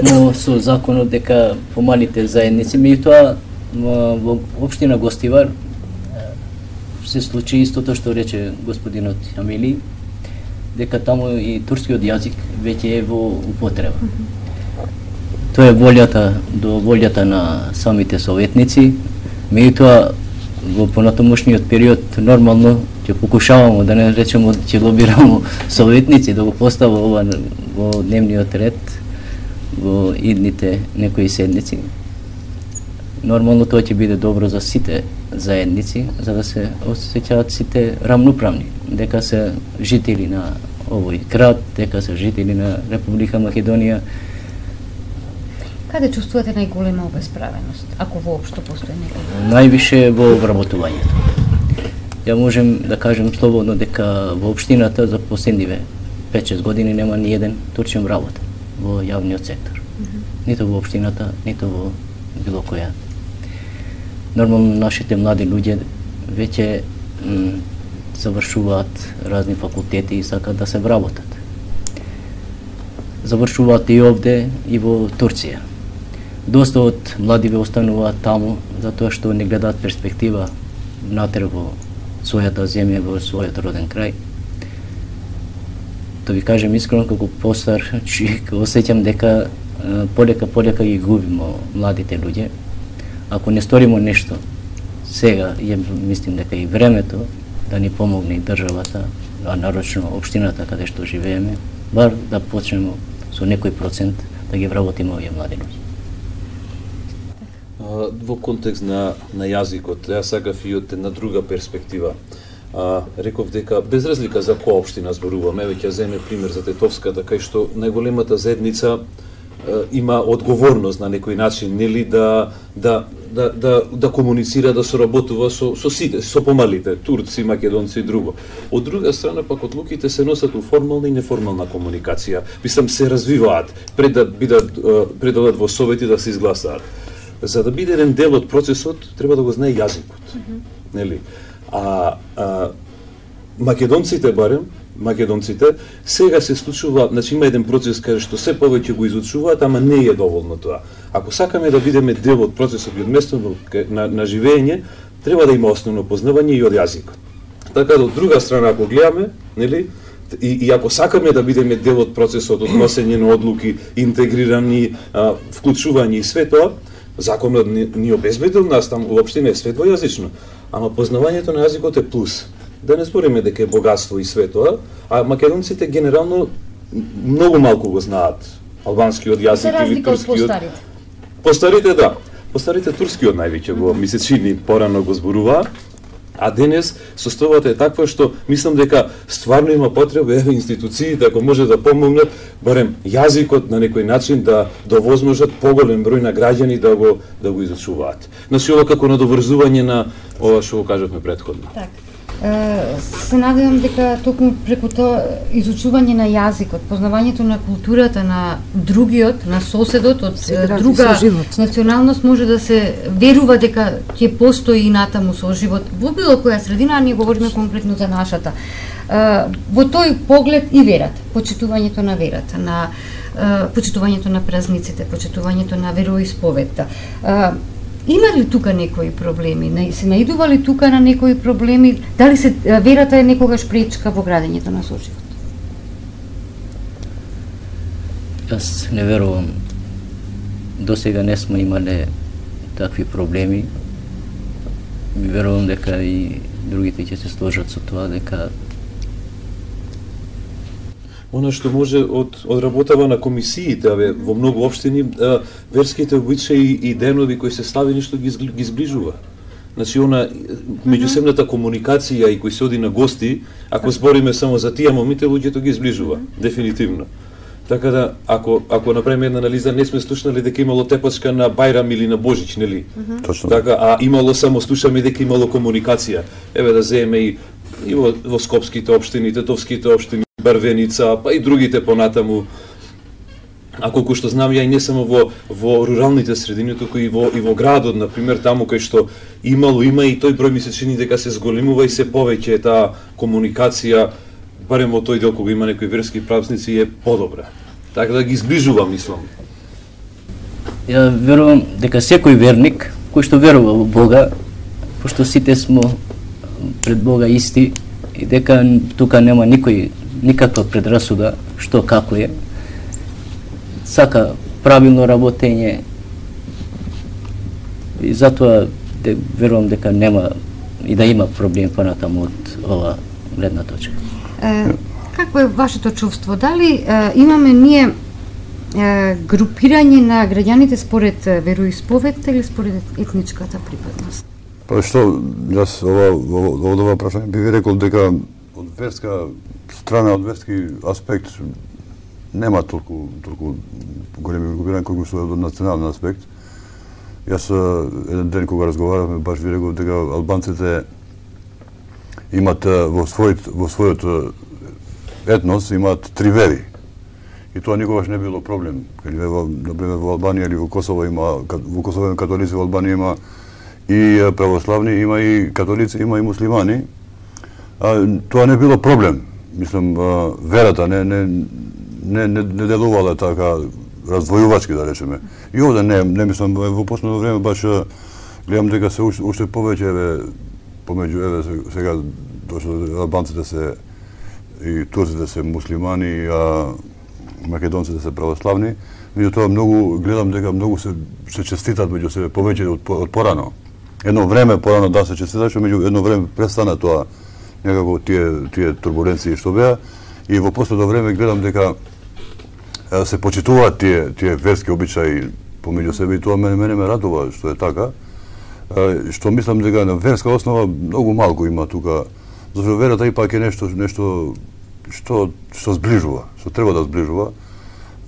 имавме со законот дека помалите заедници, меѓутоа во општина Гостивар се случи истото што рече господинот Амили, дека таму и турскиот јазик веќе е во употреба. Тоа е волјата до волјата на самите советници, меѓутоа во понатамошниот период нормално ќе покушаваме да не речеме ќе лобирамо советници да го постави ова во дневниот ред во идните некои седници. Нормално тоа ќе биде добро за сите заедници, за да се осеќаат сите рамноправни, дека се жители на овој град, дека се жители на Република Македонија. Каде чувствувате најголема обесправеност, ако воопшто постои некој? Највише во вработувањето. Ја можем да кажем слободно дека во општината за последниве пет-шест години нема ни еден турчин вработен во јавниот сектор. Mm -hmm. Нито во општината, нито во било која. Нормално нашите млади луѓе веќе завршуваат разни факултети и сакаат да се вработат. Завршуваат и овде и во Турција. Доста од младиве остануваат таму затоа што не гледаат перспектива натре во својата земја, во својот роден крај. Да ви кажем искрено, како постар човек, осеќам дека полека полека ги губиме младите луѓе. Ако не сториме нешто сега, ја мислим дека и времето да ни помогне и државата, а нарочно општината каде што живееме, бар да почнеме со некој процент да ги вработиме овие млади луѓе. Во контекст на на јазикот, ја сакав и од една друга перспектива. А, реков дека без разлика за која општина зборуваме, веќе земе пример за Тетовската, кај што најголемата заедница а, има одговорност на некој начин, нели да да да да да комуницира, да соработува со со сите, со помалите, турци, македонци и друго. Од друга страна пак одлуките се носат у формална и неформална комуникација. Мислам се развиваат пред да бидат пред да во совети да се изгласаат. за да биде еден дел од процесот, треба да го знае јазикот. Mm -hmm. Нели? А, а македонците барем, македонците, сега се случува, значи има еден процес каде што се повеќе го изучуваат, ама не е доволно тоа. Ако сакаме да бидеме дел од процесот и од местото на, на живење, треба да има основно познавање и од јазикот. Така да од друга страна, ако гледаме, нели, и, и ако сакаме да бидеме дел од процесот од носење на одлуки, интегрирани, а, вклучување и све тоа, законот ни, ни обезбедил нас, там уопште не е све двојазично, ама познавањето на јазикот е плюс. Да не збориме дека е богатство и све тоа, а македонците генерално многу малку го знаат албанскиот јазик или турскиот. Постарите. Постарите, да. Постарите турскиот највеќе го ми се чини порано го зборуваа. А денес состојбата е таква што мислам дека стварно има потреба еве институциите ако може да помогнат барем јазикот на некој начин да довозможат поголем број на граѓани да го да го изучуваат. Значи ова како надоврзување на ова што го кажавме претходно. Так. Се надевам дека токму преку тоа изучување на јазикот, познавањето на културата на другиот, на соседот од друга националност може да се верува дека ќе постои и натаму соживот во било која средина, а ние говориме конкретно за нашата. Во тој поглед и верата, почитувањето на верата, на почитувањето на празниците, почитувањето на вероисповедта. Има ли тука некои проблеми? Се наидува ли тука на некои проблеми? Дали се верата е некогаш пречка во градењето на соживот? Јас не верувам. До сега не сме имале такви проблеми. Ми верувам дека и другите ќе се сложат со тоа дека она што може од од работава на комисиите, абе, во многу општини а, верските обичаи и денови кои се славени што ги, ги зближува. Значи она меѓусебната комуникација и кои се оди на гости, ако збориме само за тие момите, луѓето ги зближува, дефинитивно. Така да ако ако направиме една анализа, не сме слушнали дека имало тепачка на Бајрам или на Божич, нели? Точно. Така, а имало само слушаме дека имало комуникација. Еве да земеме и и во, во скопските општини, тетовските општини, Барвеница, па и другите понатаму. А колку што знам ја и не само во во руралните средини, туку и во и во градот, на пример, таму кај што имало има и тој број ми се чини дека се зголемува и се повеќе таа комуникација, барем во тој дел кога има некои верски празници е подобра. Така да ги зближува, мислам. Ја верувам дека секој верник кој што верува во Бога, пошто сите сме пред Бога исти и дека тука нема никој никаква предрасуда што како е, сака правилно работење и затоа де, верувам дека нема и да има проблем понатаму од ова гледна точка. Е, какво е вашето чувство? Дали е, имаме ние е, групирање на граѓаните според вероисповедта или според етничката припадност? Па што, јас ова, ова, ова прашање би ви рекол дека од верска страна, од верски аспект нема толку, толку големи групирања колку што од национален аспект. Јас еден ден кога разговаравме, баш ви рекол дека албанците имат во својот во својот етнос имаат три вери. И тоа никогаш не било проблем. Каде во например во Албанија или во Косово има во Косово има католици, во Албанија има и православни, има и католици, има и муслимани. А, тоа не било проблем. Мислам, верата не не не не, не делувала така раздвојувачки, да речеме. И овде не, не мислам, во последно време баш гледам дека се уште, уште повеќе еве помеѓу еве сега дошто албанците се и турците се муслимани, а македонците се православни. Меѓутоа многу гледам дека многу се се честитат меѓу себе повеќе од, од порано. Едно време порано да се честиташе, меѓу едно време престана тоа некако тие тие турбуленции што беа и во последно време гледам дека се почитуваат тие тие верски обичаи помеѓу себе и тоа мене мене ме радува што е така. Што мислам дека на верска основа многу малку има тука, зашто верата ипак е нешто нешто што што зближува, што треба да зближува.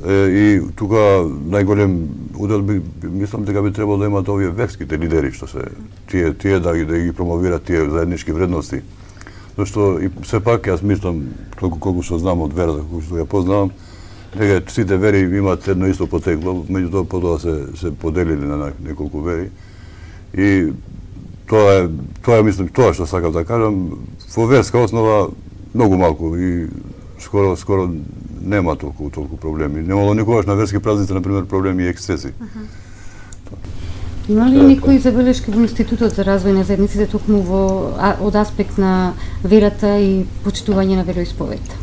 И тука најголем удел би, мислам дека би требало да имаат овие верските лидери што се тие тие да ги да ги промовираат тие заеднички вредности. Зашто и сепак јас мислам толку колку што знам од верата, колку што ја познавам, дека сите вери имаат едно исто потекло, меѓутоа потоа се се поделили на неколку вери. И тоа е тоа е мислам тоа што сакам да кажам, во верска основа многу малку и скоро скоро нема толку толку проблеми. Немало никогаш на верски празници на пример проблеми и ексцеси. Има ли некои забелешки во Институтот за развој на заедниците токму во а, од аспект на верата и почитување на вероисповедта?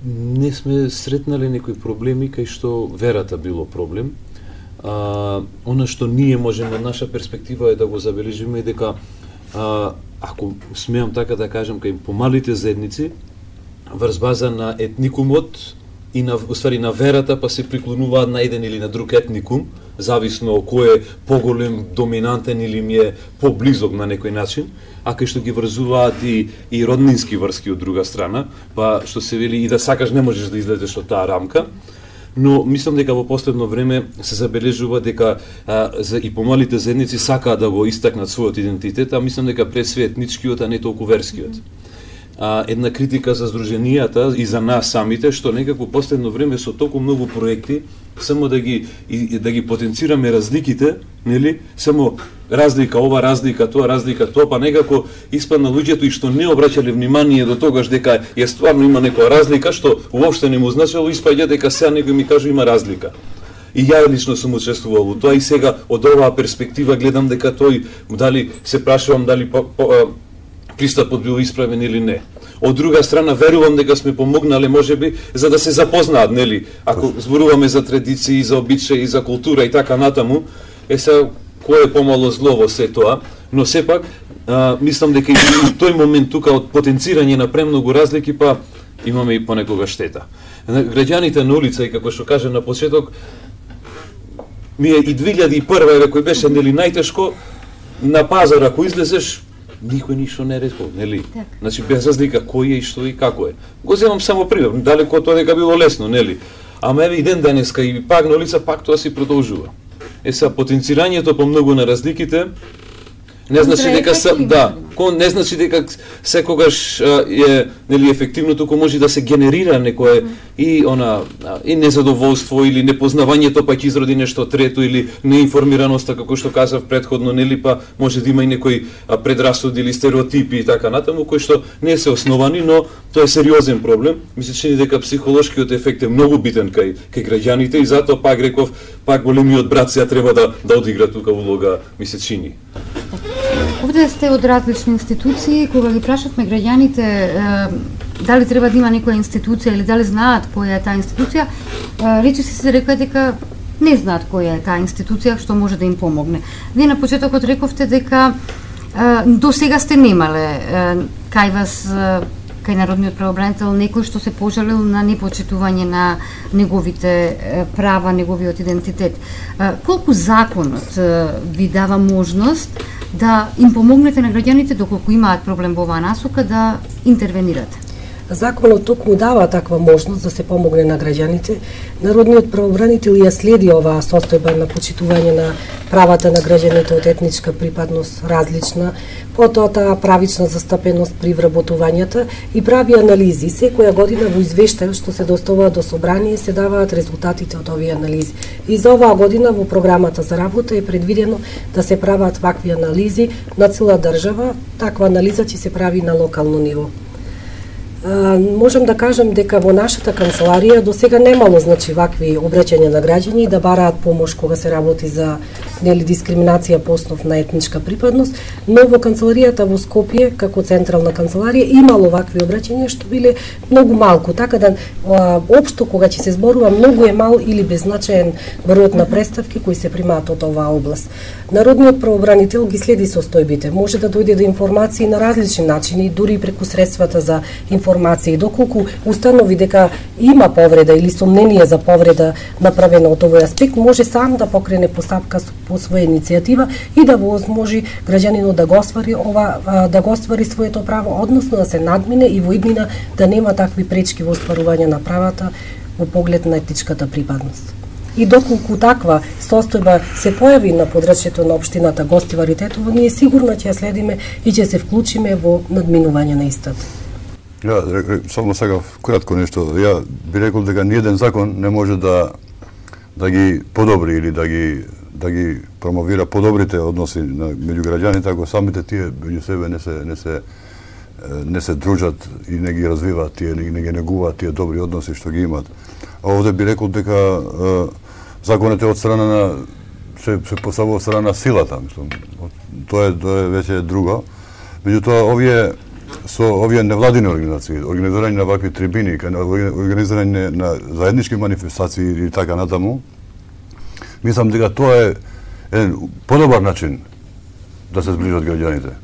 Не сме сретнали некои проблеми кај што верата било проблем. А, она што ние можеме од наша перспектива е да го забележиме дека а, ако смеам така да кажам кај помалите заедници врз база на етникумот и на уствари на верата па се приклонуваат на еден или на друг етникум, зависно кој е поголем, доминантен или ми е поблизок на некој начин, а кај што ги врзуваат и, и роднински врски од друга страна, па што се вели и да сакаш не можеш да излезеш од таа рамка. Но мислам дека во последно време се забележува дека а, за и помалите заедници сакаат да го истакнат својот идентитет, а мислам дека пред све етничкиот, а не толку верскиот. А, една критика за здруженијата и за нас самите, што некако последно време со толку многу проекти, само да ги и, да ги потенцираме разликите, нели? Само разлика ова, разлика тоа, разлика тоа, па некако испадна луѓето и што не обраќале внимание до тогаш дека е стварно има некоја разлика, што уопште не му значело, испаѓа дека сега некој ми кажа има разлика. И ја лично сум учествувал во тоа и сега од оваа перспектива гледам дека тој дали се прашувам дали по, по, пристапот бил исправен или не. Од друга страна верувам дека сме помогнале можеби за да се запознаат, нели, ако зборуваме за традиции, за обичаи, за култура и така натаму, е се кој е помало зло во се тоа, но сепак а, мислам дека и тој момент тука од потенцирање на премногу разлики па имаме и понекога штета. Граѓаните на улица и како што кажа на почеток, ми е и две илјади и прва еве кој беше нели најтешко на пазар ако излезеш никој ништо не рекол, нели? Так. Значи без разлика кој е и што и како е. Го земам само пример, далеко тоа дека било лесно, нели? Ама еве и ден денеска и пак на улица пак тоа си продолжува. Е са потенцирањето по многу на разликите не значи дека са, да, кон не значи дека секогаш е нели ефективно, туку може да се генерира некое и она и незадоволство или непознавањето па ќе изроди нешто трето или неинформираноста како што казав претходно, нели па може да има и некои предрасуди или стереотипи и така натаму кои што не се основани, но тоа е сериозен проблем. Ми се чини дека психолошкиот ефект е многу битен кај кај граѓаните и затоа пак реков пак големиот брат сега треба да да одигра тука улога, ми се чини. Овде сте од различни институции, кога ги прашавме граѓаните е, дали треба да има некоја институција или дали знаат која е таа институција, е, речиси се рекоа дека не знаат која е таа институција што може да им помогне. Вие на почетокот рековте дека е, до сега сте немале е, кај вас е, кај народниот правобранител некој што се пожалил на непочитување на неговите права, неговиот идентитет. Е, колку законот е, ви дава можност да им помогнете на граѓаните доколку имаат проблем во оваа насока да интервенирате? Законот токму дава таква можност да се помогне на граѓаните. Народниот правобранител ја следи оваа состојба на почитување на правата на граѓаните од етничка припадност различна, потоа таа правична застапеност при вработувањата и прави анализи. Секоја година во извештајот што се доставува до собрание се даваат резултатите од овие анализи. И за оваа година во програмата за работа е предвидено да се прават вакви анализи на цела држава. Таква анализа ќе се прави на локално ниво. А, можам да кажам дека во нашата канцеларија до сега немало значи вакви обраќања на граѓани да бараат помош кога се работи за нели дискриминација по основ на етничка припадност, но во канцеларијата во Скопје како централна канцеларија имало вакви обраќања што биле многу малку, така да а, општо кога ќе се зборува многу е мал или беззначаен бројот на представки кои се примаат од оваа област. Народниот правобранител ги следи состојбите, може да дојде до информации на различни начини, дури и преку средствата за информации. Доколку установи дека има повреда или сомнение за повреда направена од овој аспект, може сам да покрене постапка по своја иницијатива и да возможи граѓанинот да го оствари ова да го оствари своето право, односно да се надмине и во иднина да нема такви пречки во остварување на правата во поглед на етничката припадност. И доколку таква состојба се појави на подрачјето на општината Гостивари Тетово, ние сигурно ќе ја следиме и ќе се вклучиме во надминување на истата. Ја, само сега кратко нешто. Ја би рекол дека ниеден закон не може да да ги подобри или да ги да ги промовира подобрите односи на меѓу граѓаните ако самите тие меѓу себе не се не се не се дружат и не ги развиваат тие, не, не ги негуваат тие добри односи што ги имаат. А овде би рекол дека е, законот е од страна на се се поставува од страна на силата, мислам. Тоа е тоа е веќе друго. Меѓутоа овие со овие невладини организации, организирање на вакви трибини, организирање на заеднички манифестации и така натаму, мислам дека тоа е еден подобар начин да се зближат граѓаните.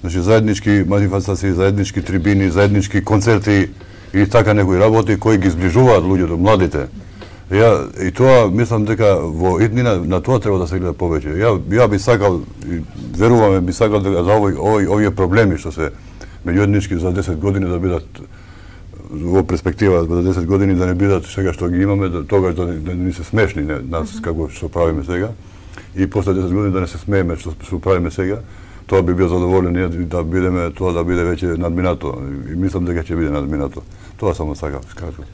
Значи заеднички манифестации, заеднички трибини, заеднички концерти и така некои работи кои ги зближуваат луѓето, младите. Ја и тоа мислам дека во иднина на тоа треба да се гледа повеќе. Ја ја би сакал и веруваме би сакал дека за овој овој овие проблеми што се меѓуетнички за десет години да бидат во перспектива за десет години да не бидат сега што ги имаме, да, тогаш да, да не се смешни не, нас mm -hmm. како што правиме сега и после десет години да не се смееме што што правиме сега, тоа би бил задоволен да бидеме тоа да биде веќе надминато и мислам дека ќе биде надминато. Тоа само сакав скажам.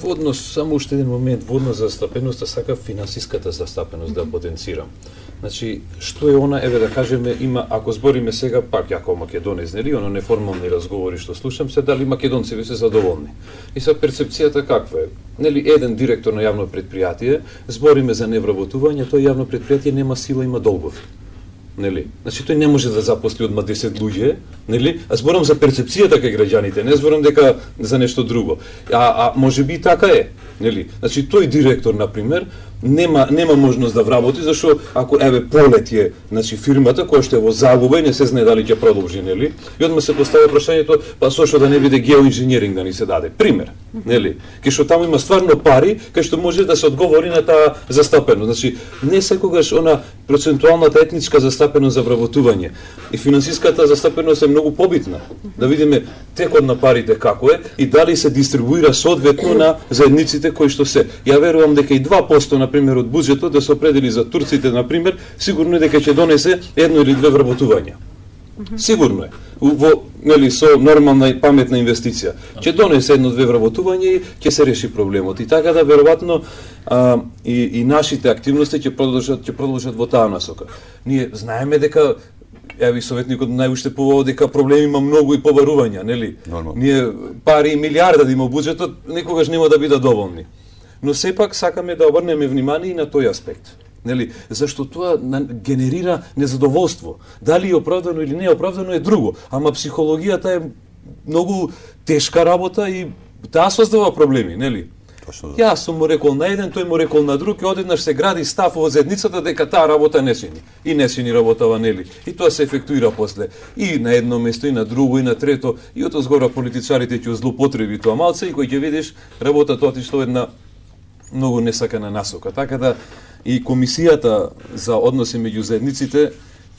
Во однос, само уште еден момент, во однос за застапеноста, сакав финансиската застапеност да потенцирам. Значи, што е она, еве да кажеме, има, ако збориме сега, пак јако македонец, нели, оно неформални разговори што слушам се, дали македонци се задоволни. И са перцепцијата каква е? Нели, еден директор на јавно предпријатие, збориме за невработување, тој јавно предпријатие нема сила, има долгови. Нели? Значи тој не може да запосли одма десет луѓе, нели? А зборам за перцепцијата кај граѓаните, не зборам дека за нешто друго. А а можеби и така е, нели? Значи тој директор на пример нема нема можност да вработи зашто ако еве полетје, значи фирмата која што е во загуба и не се знае дали ќе продолжи, нели? И одма се постави прашањето, па зошто да не биде геоинженеринг да ни се даде? Пример, нели? Кај што таму има стварно пари, кај што може да се одговори на таа застапеност. Значи не секогаш она процентуалната етничка застапеност за вработување и финансиската застапеност е многу побитна. Да видиме текот на парите како е и дали се дистрибуира соодветно на заедниците кои што се. Ја верувам дека и два проценти на пример од буџетот да се определи за турците на пример, сигурно е дека ќе донесе едно или две вработувања. Сигурно е. Во нели со нормална и паметна инвестиција. Ќе донесе едно-две вработувања и ќе се реши проблемот. И така да веројатно а, и, и нашите активности ќе продолжат ќе продолжат во таа насока. Ние знаеме дека еве советникот најуште поводи дека проблеми има многу и побарувања, нели? Нормално. Ние пари и милиарда да има буџетот никогаш нема да бидат доволни. Но сепак сакаме да обрнеме внимание и на тој аспект. Нели, зашто тоа генерира незадоволство. Дали е оправдано или не е оправдано е друго, ама психологијата е многу тешка работа и таа создава проблеми, нели? Точно. Јас сум му рекол на еден, тој му рекол на друг и одеднаш се гради став во заедницата дека таа работа не сини. И не сини работава, нели? И тоа се ефектуира после и на едно место и на друго и на трето и од згора политичарите ќе злоупотреби тоа малце и кој ќе видиш работата отишла една многу несакана насока. Така да и комисијата за односи меѓу заедниците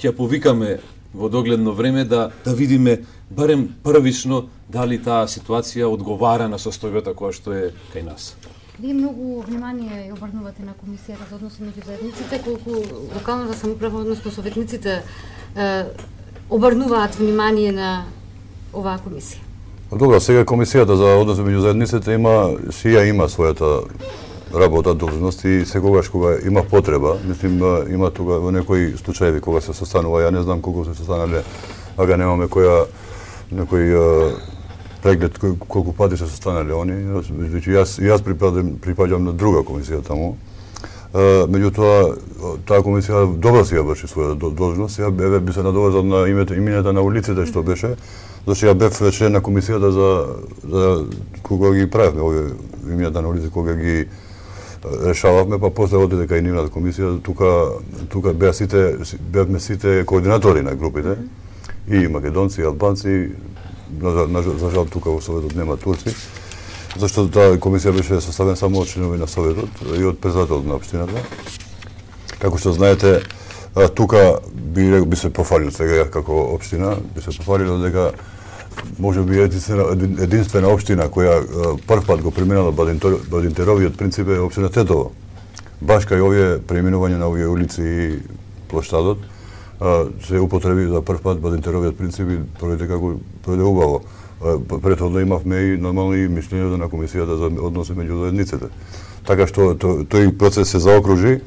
ќе повикаме во догледно време да да видиме барем првично дали таа ситуација одговара на состојбата која што е кај нас. Вие многу внимание ја обрнувате на комисијата за односи меѓу заедниците, колку локалната самоуправа, односно советниците е, обрнуваат внимание на оваа комисија. Добро, сега комисијата за односи меѓу заедниците има си ја има својата работа, должност и секогаш кога има потреба, мислим има тога во некои случаи кога се состанува, ја не знам колку се состанале, ага немаме која некој преглед колку пати се состанале они, значи јас јас припаѓам припаѓам на друга комисија таму. Меѓутоа таа комисија добро си ја врши својата должност. Ја еве би се надоврзал на името имената на улиците што беше, зашто ја бев член на комисијата за за кога ги правевме овие имената на улиците, кога ги решававме, па после одиде кај нивната комисија, тука тука беа сите бевме сите координатори на групите, и македонци, и албанци, за жал тука во Советот нема турци, зашто таа комисија беше составена само од членови на Советот и од председателот на општината. Како што знаете, тука би би се пофалил сега како општина, би се пофалило дека може би единствена, единствена општина која прв пат го преминала Бадинтеровиот принцип е општина Тетово. Баш кај овие преминување на овие улици и плоштадот се употреби за прв пат Бадинтеровиот принцип и пројде како пројде убаво. Претходно имавме и нормално и мислењето на комисијата за односи меѓу заедниците. Така што тој процес се заокружи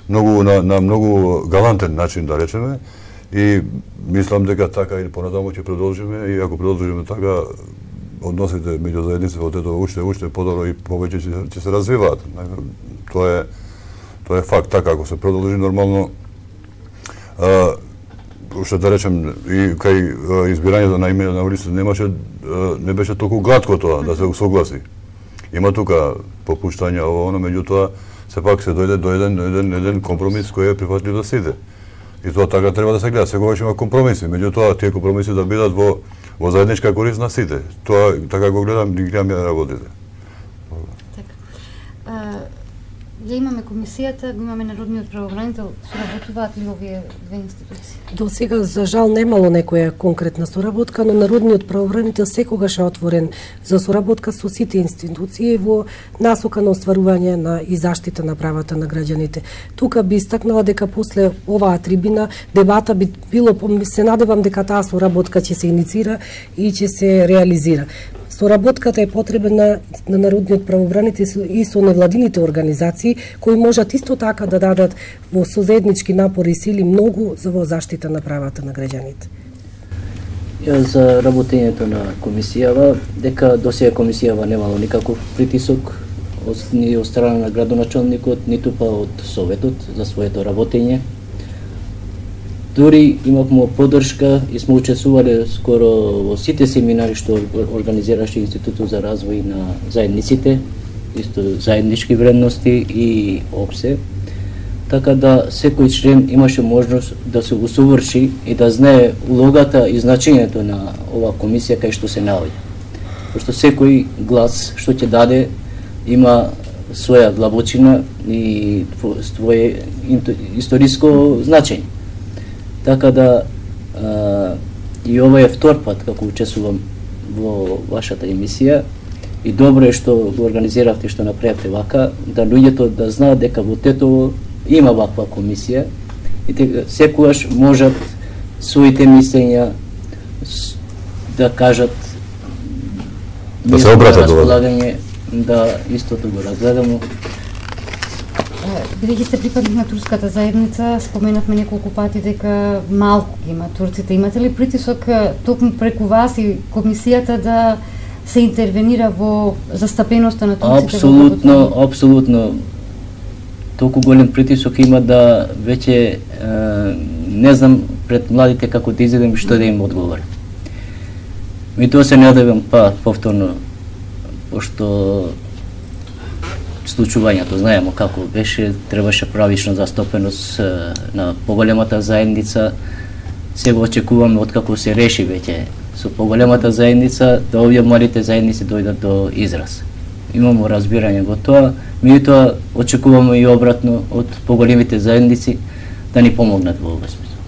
многу на, на многу галантен начин, да речеме, и мислам дека така и понатаму ќе продолжиме, и ако продолжиме така, односите меѓу заедниците од ето уште уште подобро и повеќе ќе, ќе се развиваат. Тоа е тоа е факт. Така ако се продолжи нормално, а, што да речем, и кај избирањето на име на улиците немаше, не беше толку гладко тоа да се усогласи. Има тука попуштања ово оно, меѓутоа сепак се дојде до еден еден еден компромис кој е прифатлив за сите. И тоа така треба да се гледа. Секогаш има компромиси, меѓутоа тие компромиси да бидат во во заедничка корист на сите. Тоа така го гледам, ги гледам ја работите. Ја имаме комисијата, го имаме народниот правобранител, соработуваат ли овие две институции? До сега, за жал, немало некоја конкретна соработка, но народниот правобранител секогаш е отворен за соработка со сите институции во насока на остварување на и заштита на правата на граѓаните. Тука би истакнала дека после оваа трибина дебата би било, се надевам дека таа соработка ќе се иницира и ќе се реализира. Соработката е потребна на народниот правобранител и со невладините организации кои можат исто така да дадат во созаеднички напори и сили многу за во заштита на правата на граѓаните. Ја за работењето на комисијава, дека досега комисијава немало никаков притисок ни од страна на градоначалникот, ниту па од советот за своето работење. Дури имавме поддршка и сме учествувале скоро во сите семинари што организираше Институтот за развој на заедниците, исто заеднички вредности и опсе. Така да секој член имаше можност да се усоврши и да знае улогата и значењето на оваа комисија кај што се наоѓа. Пошто секој глас што ќе даде има своја длабочина и своје историско значење. Така да а, и ова е втор пат како учествувам во вашата емисија и добро е што го организиравте, што направивте вака, да луѓето да знаат дека во Тетово има ваква комисија и дека секогаш можат своите мислења да кажат, да се обратат до вас, да истото го разгледаме. Бидејќи сте припадник на турската заедница, споменавме неколку пати дека малку има турците. Имате ли притисок токму преку вас и комисијата да се интервенира во застапеноста на турците? Апсолутно, апсолутно. Толку голем притисок има да веќе е, не знам пред младите како да изедем што да им одговорам. Ми тоа се надевам па повторно, пошто случувањето знаеме како беше, требаше правична застапеност на поголемата заедница. Сега очекуваме откако се реши веќе со поголемата заедница да овие малите заедници дојдат до израз. Имамо разбирање во тоа, меѓутоа очекуваме и обратно од поголемите заедници да ни помогнат во овој смисла.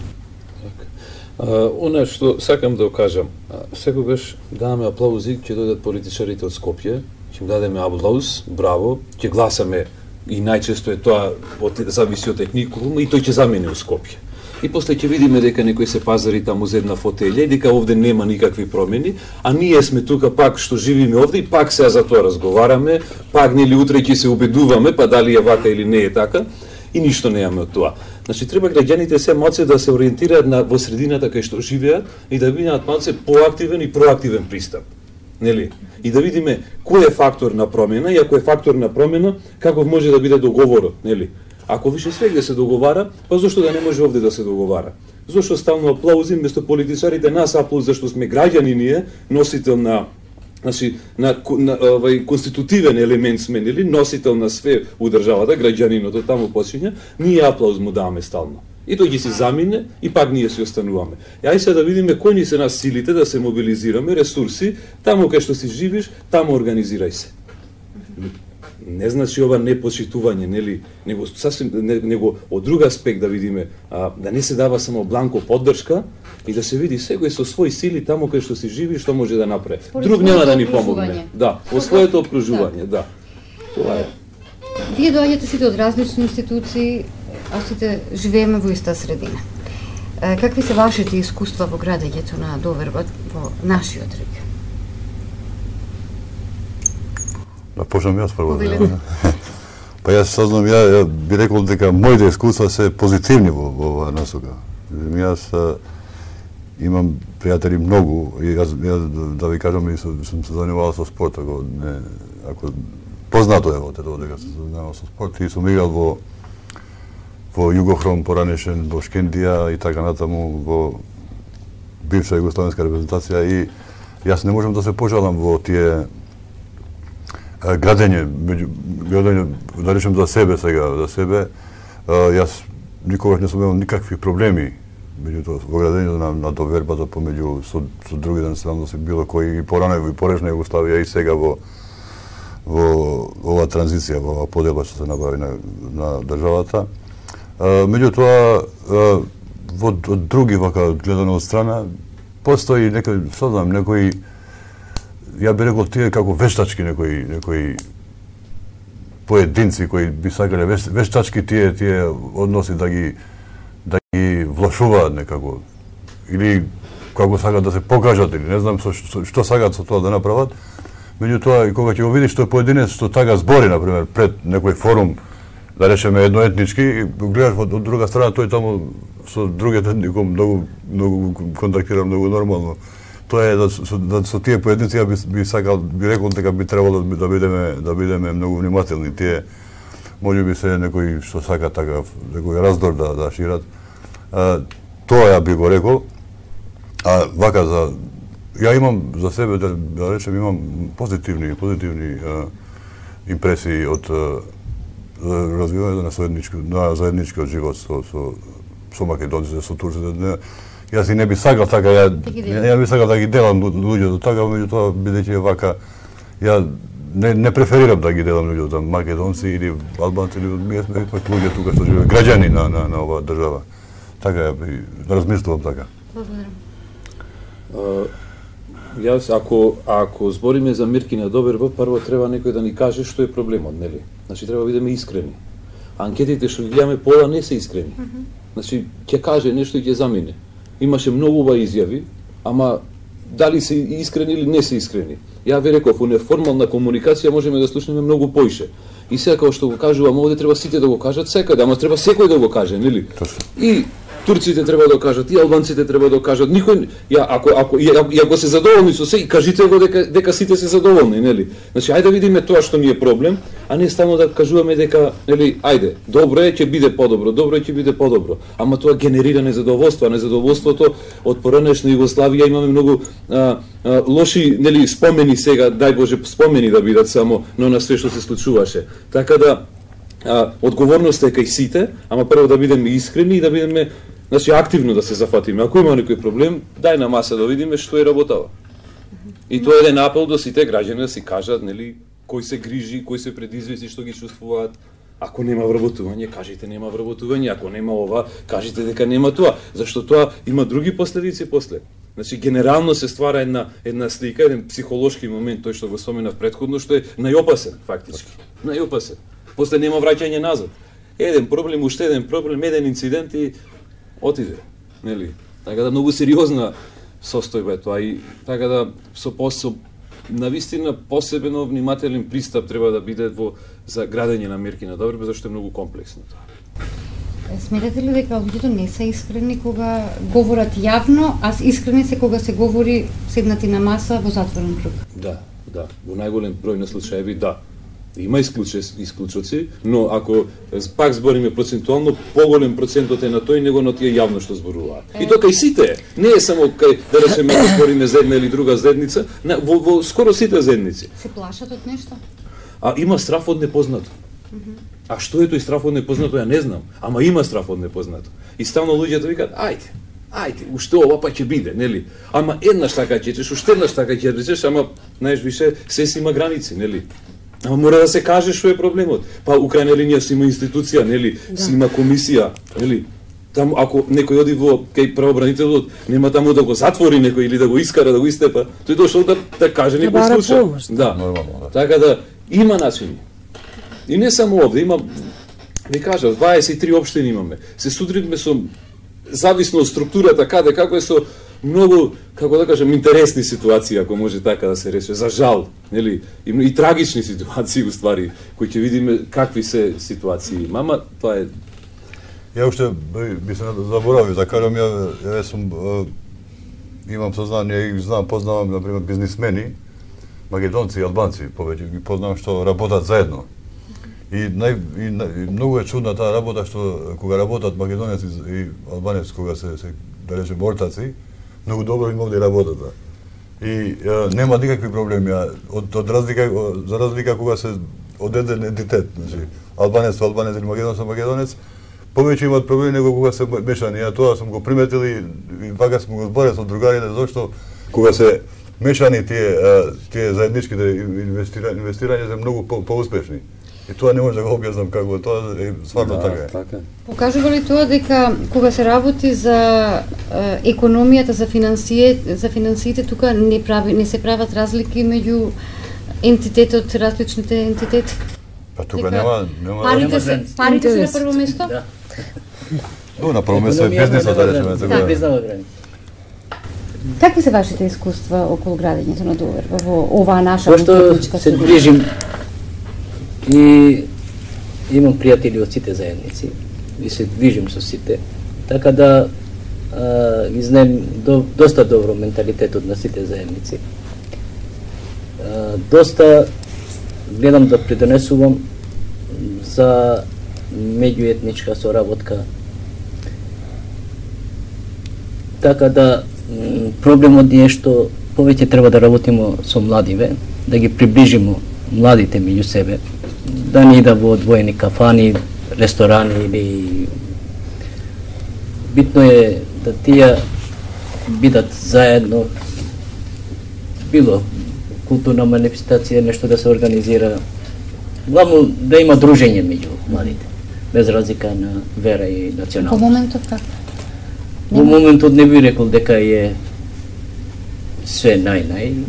Она што сакам да кажам, секогаш даваме аплаузи ќе дојдат политичарите од Скопје, ќе им дадеме аплауз, браво, ќе гласаме и најчесто е тоа од, зависи од техникум и тој ќе замени у Скопје. И после ќе видиме дека некој се пазари таму за една фотелја и дека овде нема никакви промени, а ние сме тука пак што живиме овде и пак сега за тоа разговараме, пак нели утре ќе се убедуваме, па дали е вака или не е така, и ништо немаме од тоа. Значи треба граѓаните се малце да се ориентираат на во средината кај што живеат и да бидат малце поактивен и проактивен пристап. Нели? И да видиме кој е фактор на промена и ако е фактор на промена, каков може да биде договорот, нели? Ако више свегде се договара, па зошто да не може овде да се договара? Зошто стално аплаузи место политичарите нас аплауз зашто сме граѓани ние, носител на значи на, на овај конститутивен елемент сме, нели, носител на све у државата, граѓаниното таму почиња, ние аплауз му даваме стално. И тој ги си замине и пак ние си остануваме. И ај се да видиме кои ни се нас силите да се мобилизираме, ресурси, таму кај што си живиш, таму организирај се. Не значи ова непочитување, нели, него сасвим него од друг аспект да видиме, а, да не се дава само бланко поддршка и да се види секој со своји сили таму кај што си живи, што може да направи. Друг нема да ни помогне. Да, во своето окружување, да. Тоа е. Вие доаѓате сите од различни институции, а сите живееме во иста средина. Какви се вашите искуства во градењето на доверба во нашиот регион? Да почнам јас прво. Па јас сознам, ја, ја би рекол дека моите искуства се позитивни во, во оваа насока. Јас а, имам пријатели многу и јас, јас да ви кажам и сум се занимавал со спорт, ако не ако познато е во тоа дека се занимавал со спорт и сум играл во во Југохром поранешен, во Шкендија и така натаму во бивша југословенска репрезентација и јас не можам да се пожалам во тие градење, градење, да речем за себе сега, за себе, јас никогаш не сум имал никакви проблеми меѓутоа во градењето на, на довербата помеѓу со, со другите националности, било кои и порано и порешна Југославија и сега во во оваа транзиција, во оваа поделба што се направи на, на државата. Меѓутоа, во од други вака гледано од страна, постои некој, сознам, некои, ја би рекол тие како вештачки некои, некои поединци кои би сакале вештачки тие тие односи да ги да ги влошуваат некако или како сакаат да се покажат или не знам со, со, што сакаат со тоа да направат. Меѓутоа и кога ќе го видиш тој поединец што така збори на пример пред некој форум, да речеме едноетнички, гледаш од друга страна тој таму со другите етником многу многу контактира многу нормално. Тоа е да со, да, со тие поединци би, би сакал би рекол дека би требало да, да бидеме да бидеме многу внимателни. Тие можеби се некои што сака така некој раздор да да шират. А, тоа ја би го рекол. А вака за ја имам за себе да, да речем имам позитивни позитивни а, импресии од а, развивањето на заеднички на заедничкиот живот со со со македонците, со турците. Јас и не би сакал така, ја, ја би сакал да ги делам луѓето така, меѓутоа бидејќи вака, ја не, не преферирам да ги делам луѓето, македонци или албанци, или ние сме ипак луѓе тука што живеат, граѓани на, на, на оваа држава. Така ја би, размислувам така. Благодарам. Јас, ако, ако збориме за Миркина доверба, прво треба некој да ни каже што е проблемот, нели? Значи, треба да бидеме искрени. Анкетите што ги гледаме пола не се искрени. Mm -hmm. Значи, ќе каже нешто и ќе замине. Имаше многу ова изјави, ама дали се искрени или не се искрени. Ја ви реков, у неформална комуникација можеме да слушнеме многу поише. И сега како што го кажувам, овде треба сите да го кажат секаде, ама треба секој да го каже, нели? И турците треба да кажат, и албанците треба да кажат, никој, ја, ако, ако, ја, ја ако се задоволни со се, кажите го дека, дека сите се задоволни, нели? Значи, ајде да видиме тоа што ни е проблем, а не само да кажуваме дека, нели, ајде, добро е, ќе биде подобро, добро е, ќе биде подобро. Ама тоа генерира незадоволство, а незадоволството од поранешна Југославија имаме многу а, а, лоши, нели, спомени сега, дај Боже, спомени да бидат само, но на све што се случуваше. Така да, а, одговорноста е кај сите, ама прво да бидеме искрени и да бидеме, значи, активно да се зафатиме. Ако има некој проблем, дај на маса да видиме што е работава. И тоа е еден апел до сите граѓани да си кажат, нели, кој се грижи, кој се предизвици, што ги чувствуваат. Ако нема вработување, кажете нема вработување, ако нема ова, кажете дека нема тоа, зашто тоа има други последици после. Значи, генерално се ствара една една слика, еден психолошки момент, тој што го споменав претходно, што е најопасен фактички. Најопасен. После нема враќање назад. Еден проблем, уште еден проблем, еден инцидент и отиде, нели? Така да многу сериозна состојба е тоа и така да со посо навистина посебено внимателен пристап треба да биде во за градење на мерки на доверба, зашто е многу комплексно тоа. Сметате ли дека луѓето не се искрени кога говорат јавно, а искрени се кога се говори седнати на маса во затворен круг? Да, да, во најголем број на случаеви да. Има исклучоци, но ако пак збориме процентуално, поголем процентот е на тој него на тие јавно што зборуваат. Е... И тоа кај сите, не е само кај, да речеме, ако збориме за една или друга заедница, во, во скоро сите заедници. Се плашат од нешто? А има страф од непознато. Mm -hmm. А што е тој страф од непознато, ја не знам, ама има страф од непознато. И стално луѓето викаат, ајде, ајде, уште ова па ќе биде, нели? Ама еднаш така ќе речеш, уште еднаш така ќе речеш, ама знаеш више се си има граници, нели? Ама мора да се каже што е проблемот. Па у крајна линија си има институција, нели? Да. Си има комисија, нели? Таму ако некој оди во кај правобранителот, нема таму да го затвори некој или да го искара, да го истепа, тој дошол да да каже некој случај. Да. Нормално, да. Така да има начини. И не само овде, има, ви кажав, дваесет и три општини имаме. Се судритме со, зависно од структурата, каде, како е со многу, како да кажем, интересни ситуации, ако може така да се рече, за жал, нели, и, и трагични ситуации, уствари, кои ќе видиме какви се ситуации. Мама, тоа е... Ја уште би се заборавил да кажам, ја, ја сум, имам сознание и знам, познавам, например, бизнисмени, македонци и албанци, повеќе ги познавам што работат заедно. И, нај, и, и многу е чудна таа работа што кога работат македонец и, и албанец, кога се, се да речем ортаци, многу добро им овде работата. И ја, нема никакви проблеми, а, од, од разлика, за разлика кога се од еден ентитет, значи албанец со албанец или македонец со македонец, повеќе имаат проблеми него кога се мешани. Ја тоа сум го приметил и, и вака сум го зборил со другарите, зашто кога се мешани тие тие заедничките инвестирања, инвестирања се многу по, поуспешни. И тоа не може да го објаснам како тоа е стварно да, така е. Така. Покажува ли тоа дека кога се работи за е, економијата, за финансие, за финансиите, тука не прави не се прават разлики меѓу ентитетот, различните ентитети? Па тука нема нема парите се парите се на прво место? Да. Но на прво место е бизнисот, да речеме така. Да, признава граница. Какви се вашите искуства околу градењето на доверба во оваа наша мултиетничка средина? Пошто се движим и имам пријатели од сите заедници и се движим со сите, така да а, ги знаем до, доста добро менталитетот на сите заедници. А, доста гледам да придонесувам за меѓуетничка соработка. Така да проблемот е што повеќе треба да работиме со младиве, да ги приближиме младите меѓу себе, да не ида во одвоени кафани, ресторани или битно е да тие бидат заедно, било културна манифестација, нешто да се организира, главно да има дружење меѓу младите, без разлика на вера и националност. Во моментот како? Во моментот не би рекол дека е све нај-нај,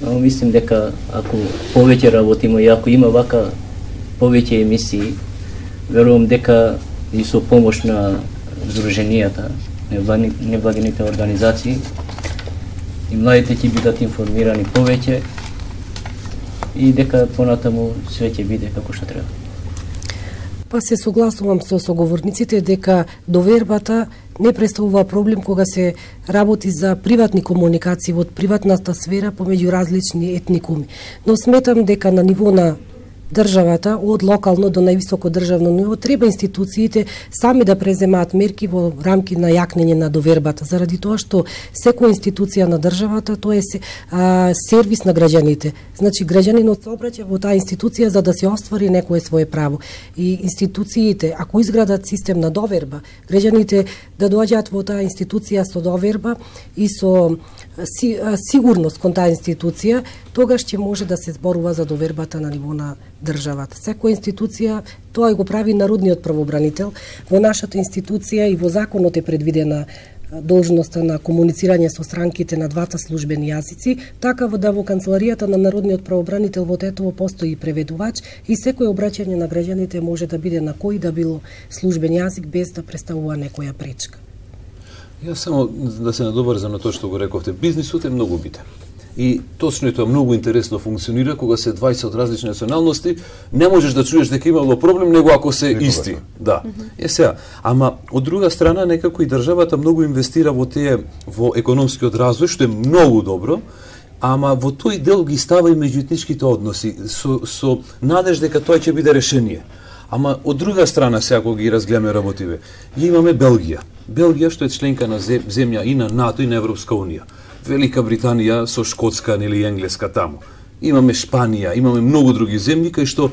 но мислим дека ако повеќе работиме и ако има вака повеќе емисии, верувам дека и со помош на здруженијата, невладините организации, и младите ќе бидат информирани повеќе и дека понатаму све ќе биде како што треба. Па се согласувам со соговорниците дека довербата не представува проблем кога се работи за приватни комуникации во приватната сфера помеѓу различни етникуми. Но сметам дека на ниво на државата, од локално до највисоко државно ниво, треба институциите сами да преземаат мерки во рамки на јакнење на довербата, заради тоа што секоја институција на државата тоа е а, сервис на граѓаните. Значи граѓанинот се обраќа во таа институција за да се оствари некое свое право. И институциите, ако изградат систем на доверба, граѓаните да доаѓаат во таа институција со доверба и со си, а, сигурност кон таа институција, тогаш ќе може да се зборува за довербата на ниво на државата. Секоја институција, тоа го прави народниот правобранител. Во нашата институција и во законот е предвидена должноста на комуницирање со странките на двата службени јазици, така да во канцеларијата на народниот правобранител во Тетово постои преведувач и секој обраќање на граѓаните може да биде на кој да било службен јазик без да представува некоја пречка. Јас само да се надобрзам на тоа што го рековте, бизнисот е многу битен. И точно тоа многу интересно функционира кога се дваесет од различни националности, не можеш да чуеш дека имало проблем него ако се Никога. Исти. Да. Mm -hmm. Е сега, ама од друга страна некако и државата многу инвестира во тие во економскиот развој, што е многу добро, ама во тој дел ги става и меѓуетничките односи со со надеж дека тоа ќе биде решение. Ама од друга страна сега кога ги разгледаме работиве, ја имаме Белгија. Белгија што е членка на земја и на НАТО и на Европска унија. Велика Британија со Шкотска или Енглеска таму. Имаме Шпанија, имаме многу други земји кај што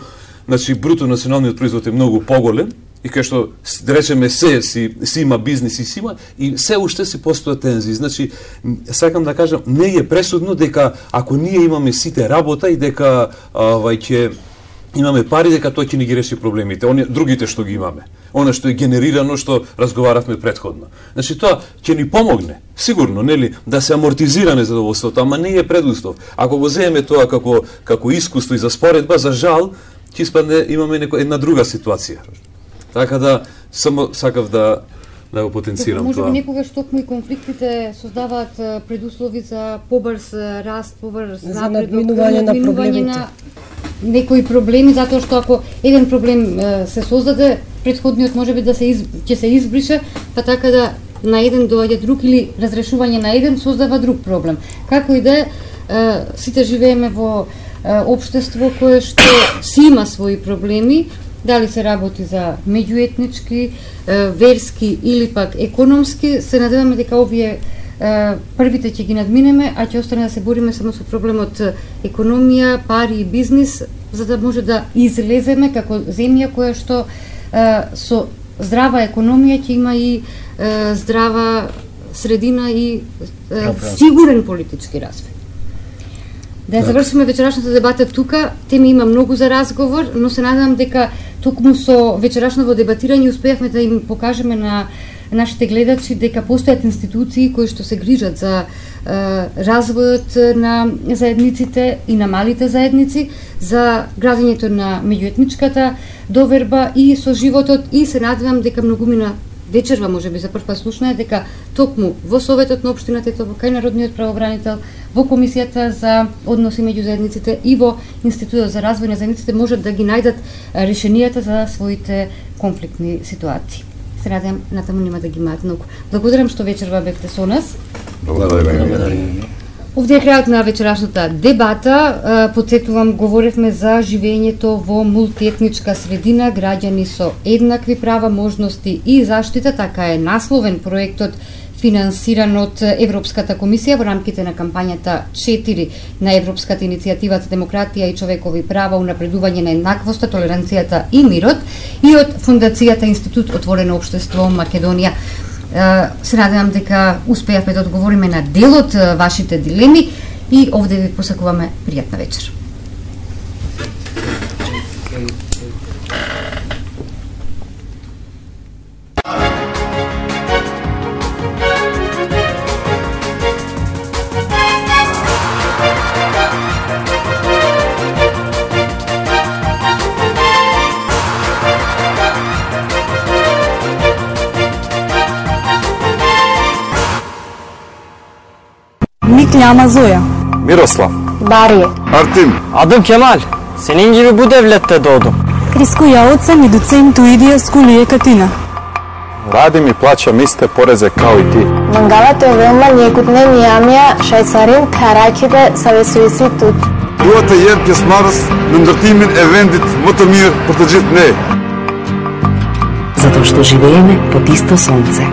значи бруто националниот производ е многу поголем и кај што да речеме се си, си има бизнис и си има и се уште си постојат тензии. Значи сакам да кажам не е пресудно дека ако ние имаме сите работа и дека авај ќе имаме пари дека тоа ќе ни ги реши проблемите, они другите што ги имаме. Она што е генерирано што разговаравме претходно. Значи тоа ќе ни помогне, сигурно, нели, да се амортизира незадоволството, ама не е предуслов. Ако го земеме тоа како како искуство и за споредба, за жал, ќе испадне имаме некоја една друга ситуација. Така да само сакав да да го потенцирам може тоа. Може би некогаш токму и конфликтите создаваат предуслови за побрз раст, побрз за надминување на проблемите. На некои проблеми, затоа што ако еден проблем се создаде, претходниот можеби да се из, ќе се избрише, па така да на еден доаѓа друг или разрешување на еден создава друг проблем. Како и да е, сите живееме во општество кое што си има своји проблеми, дали се работи за меѓуетнички, верски или пак економски, се надеваме дека овие првите ќе ги надминеме, а ќе остане да се бориме само со проблемот економија, пари и бизнис, за да може да излеземе како земја која што со здрава економија ќе има и здрава средина и сигурен политички развој. Да завршиме вечерашната дебата тука, теми има многу за разговор, но се надевам дека токму со вечерашното дебатирање успеавме да им покажеме на нашите гледачи дека постојат институции кои што се грижат за е, развојот на заедниците и на малите заедници, за градењето на меѓуетничката доверба и со животот, и се надевам дека многумина вечерва можеби за прв пат слушнаа дека токму во Советот на општината Тетово, кај Народниот правобранител, во Комисијата за односи меѓу заедниците и во Институтот за развој на заедниците можат да ги најдат решенијата за своите конфликтни ситуации. Се надевам натаму нема да ги имаат многу. Благодарам што вечерва бевте со нас. Благодарам. Овде е крајот на вечерашната дебата. Потсетувам, говоревме за живењето во мултиетничка средина, граѓани со еднакви права, можности и заштита. Така е насловен проектот финансиран од Европската комисија во рамките на кампањата четири на Европската иницијатива за демократија и човекови права, унапредување на еднаквоста, толеранцијата и мирот, и од Фондацијата Институт Отворено општество Македонија. Се надевам дека успеавме да одговориме на дел од вашите дилеми и овде ви посакуваме пријатна вечер. Микляма Зоја, Мирослав, Барие, Артим, Adım Kemal. Senin gibi bu devlette doğdum. Криско Јаоцен и доцент Уидија Скулије Катина. Радим и плаќам исте порезе као и ти. Мангалато е велма njegutne mijamja šajsarin karakide savesuysi tut. Duata herkes mars ndërtimin e vendit më të mirë për të gjithë ne. Затоа што живееме под исто сонце.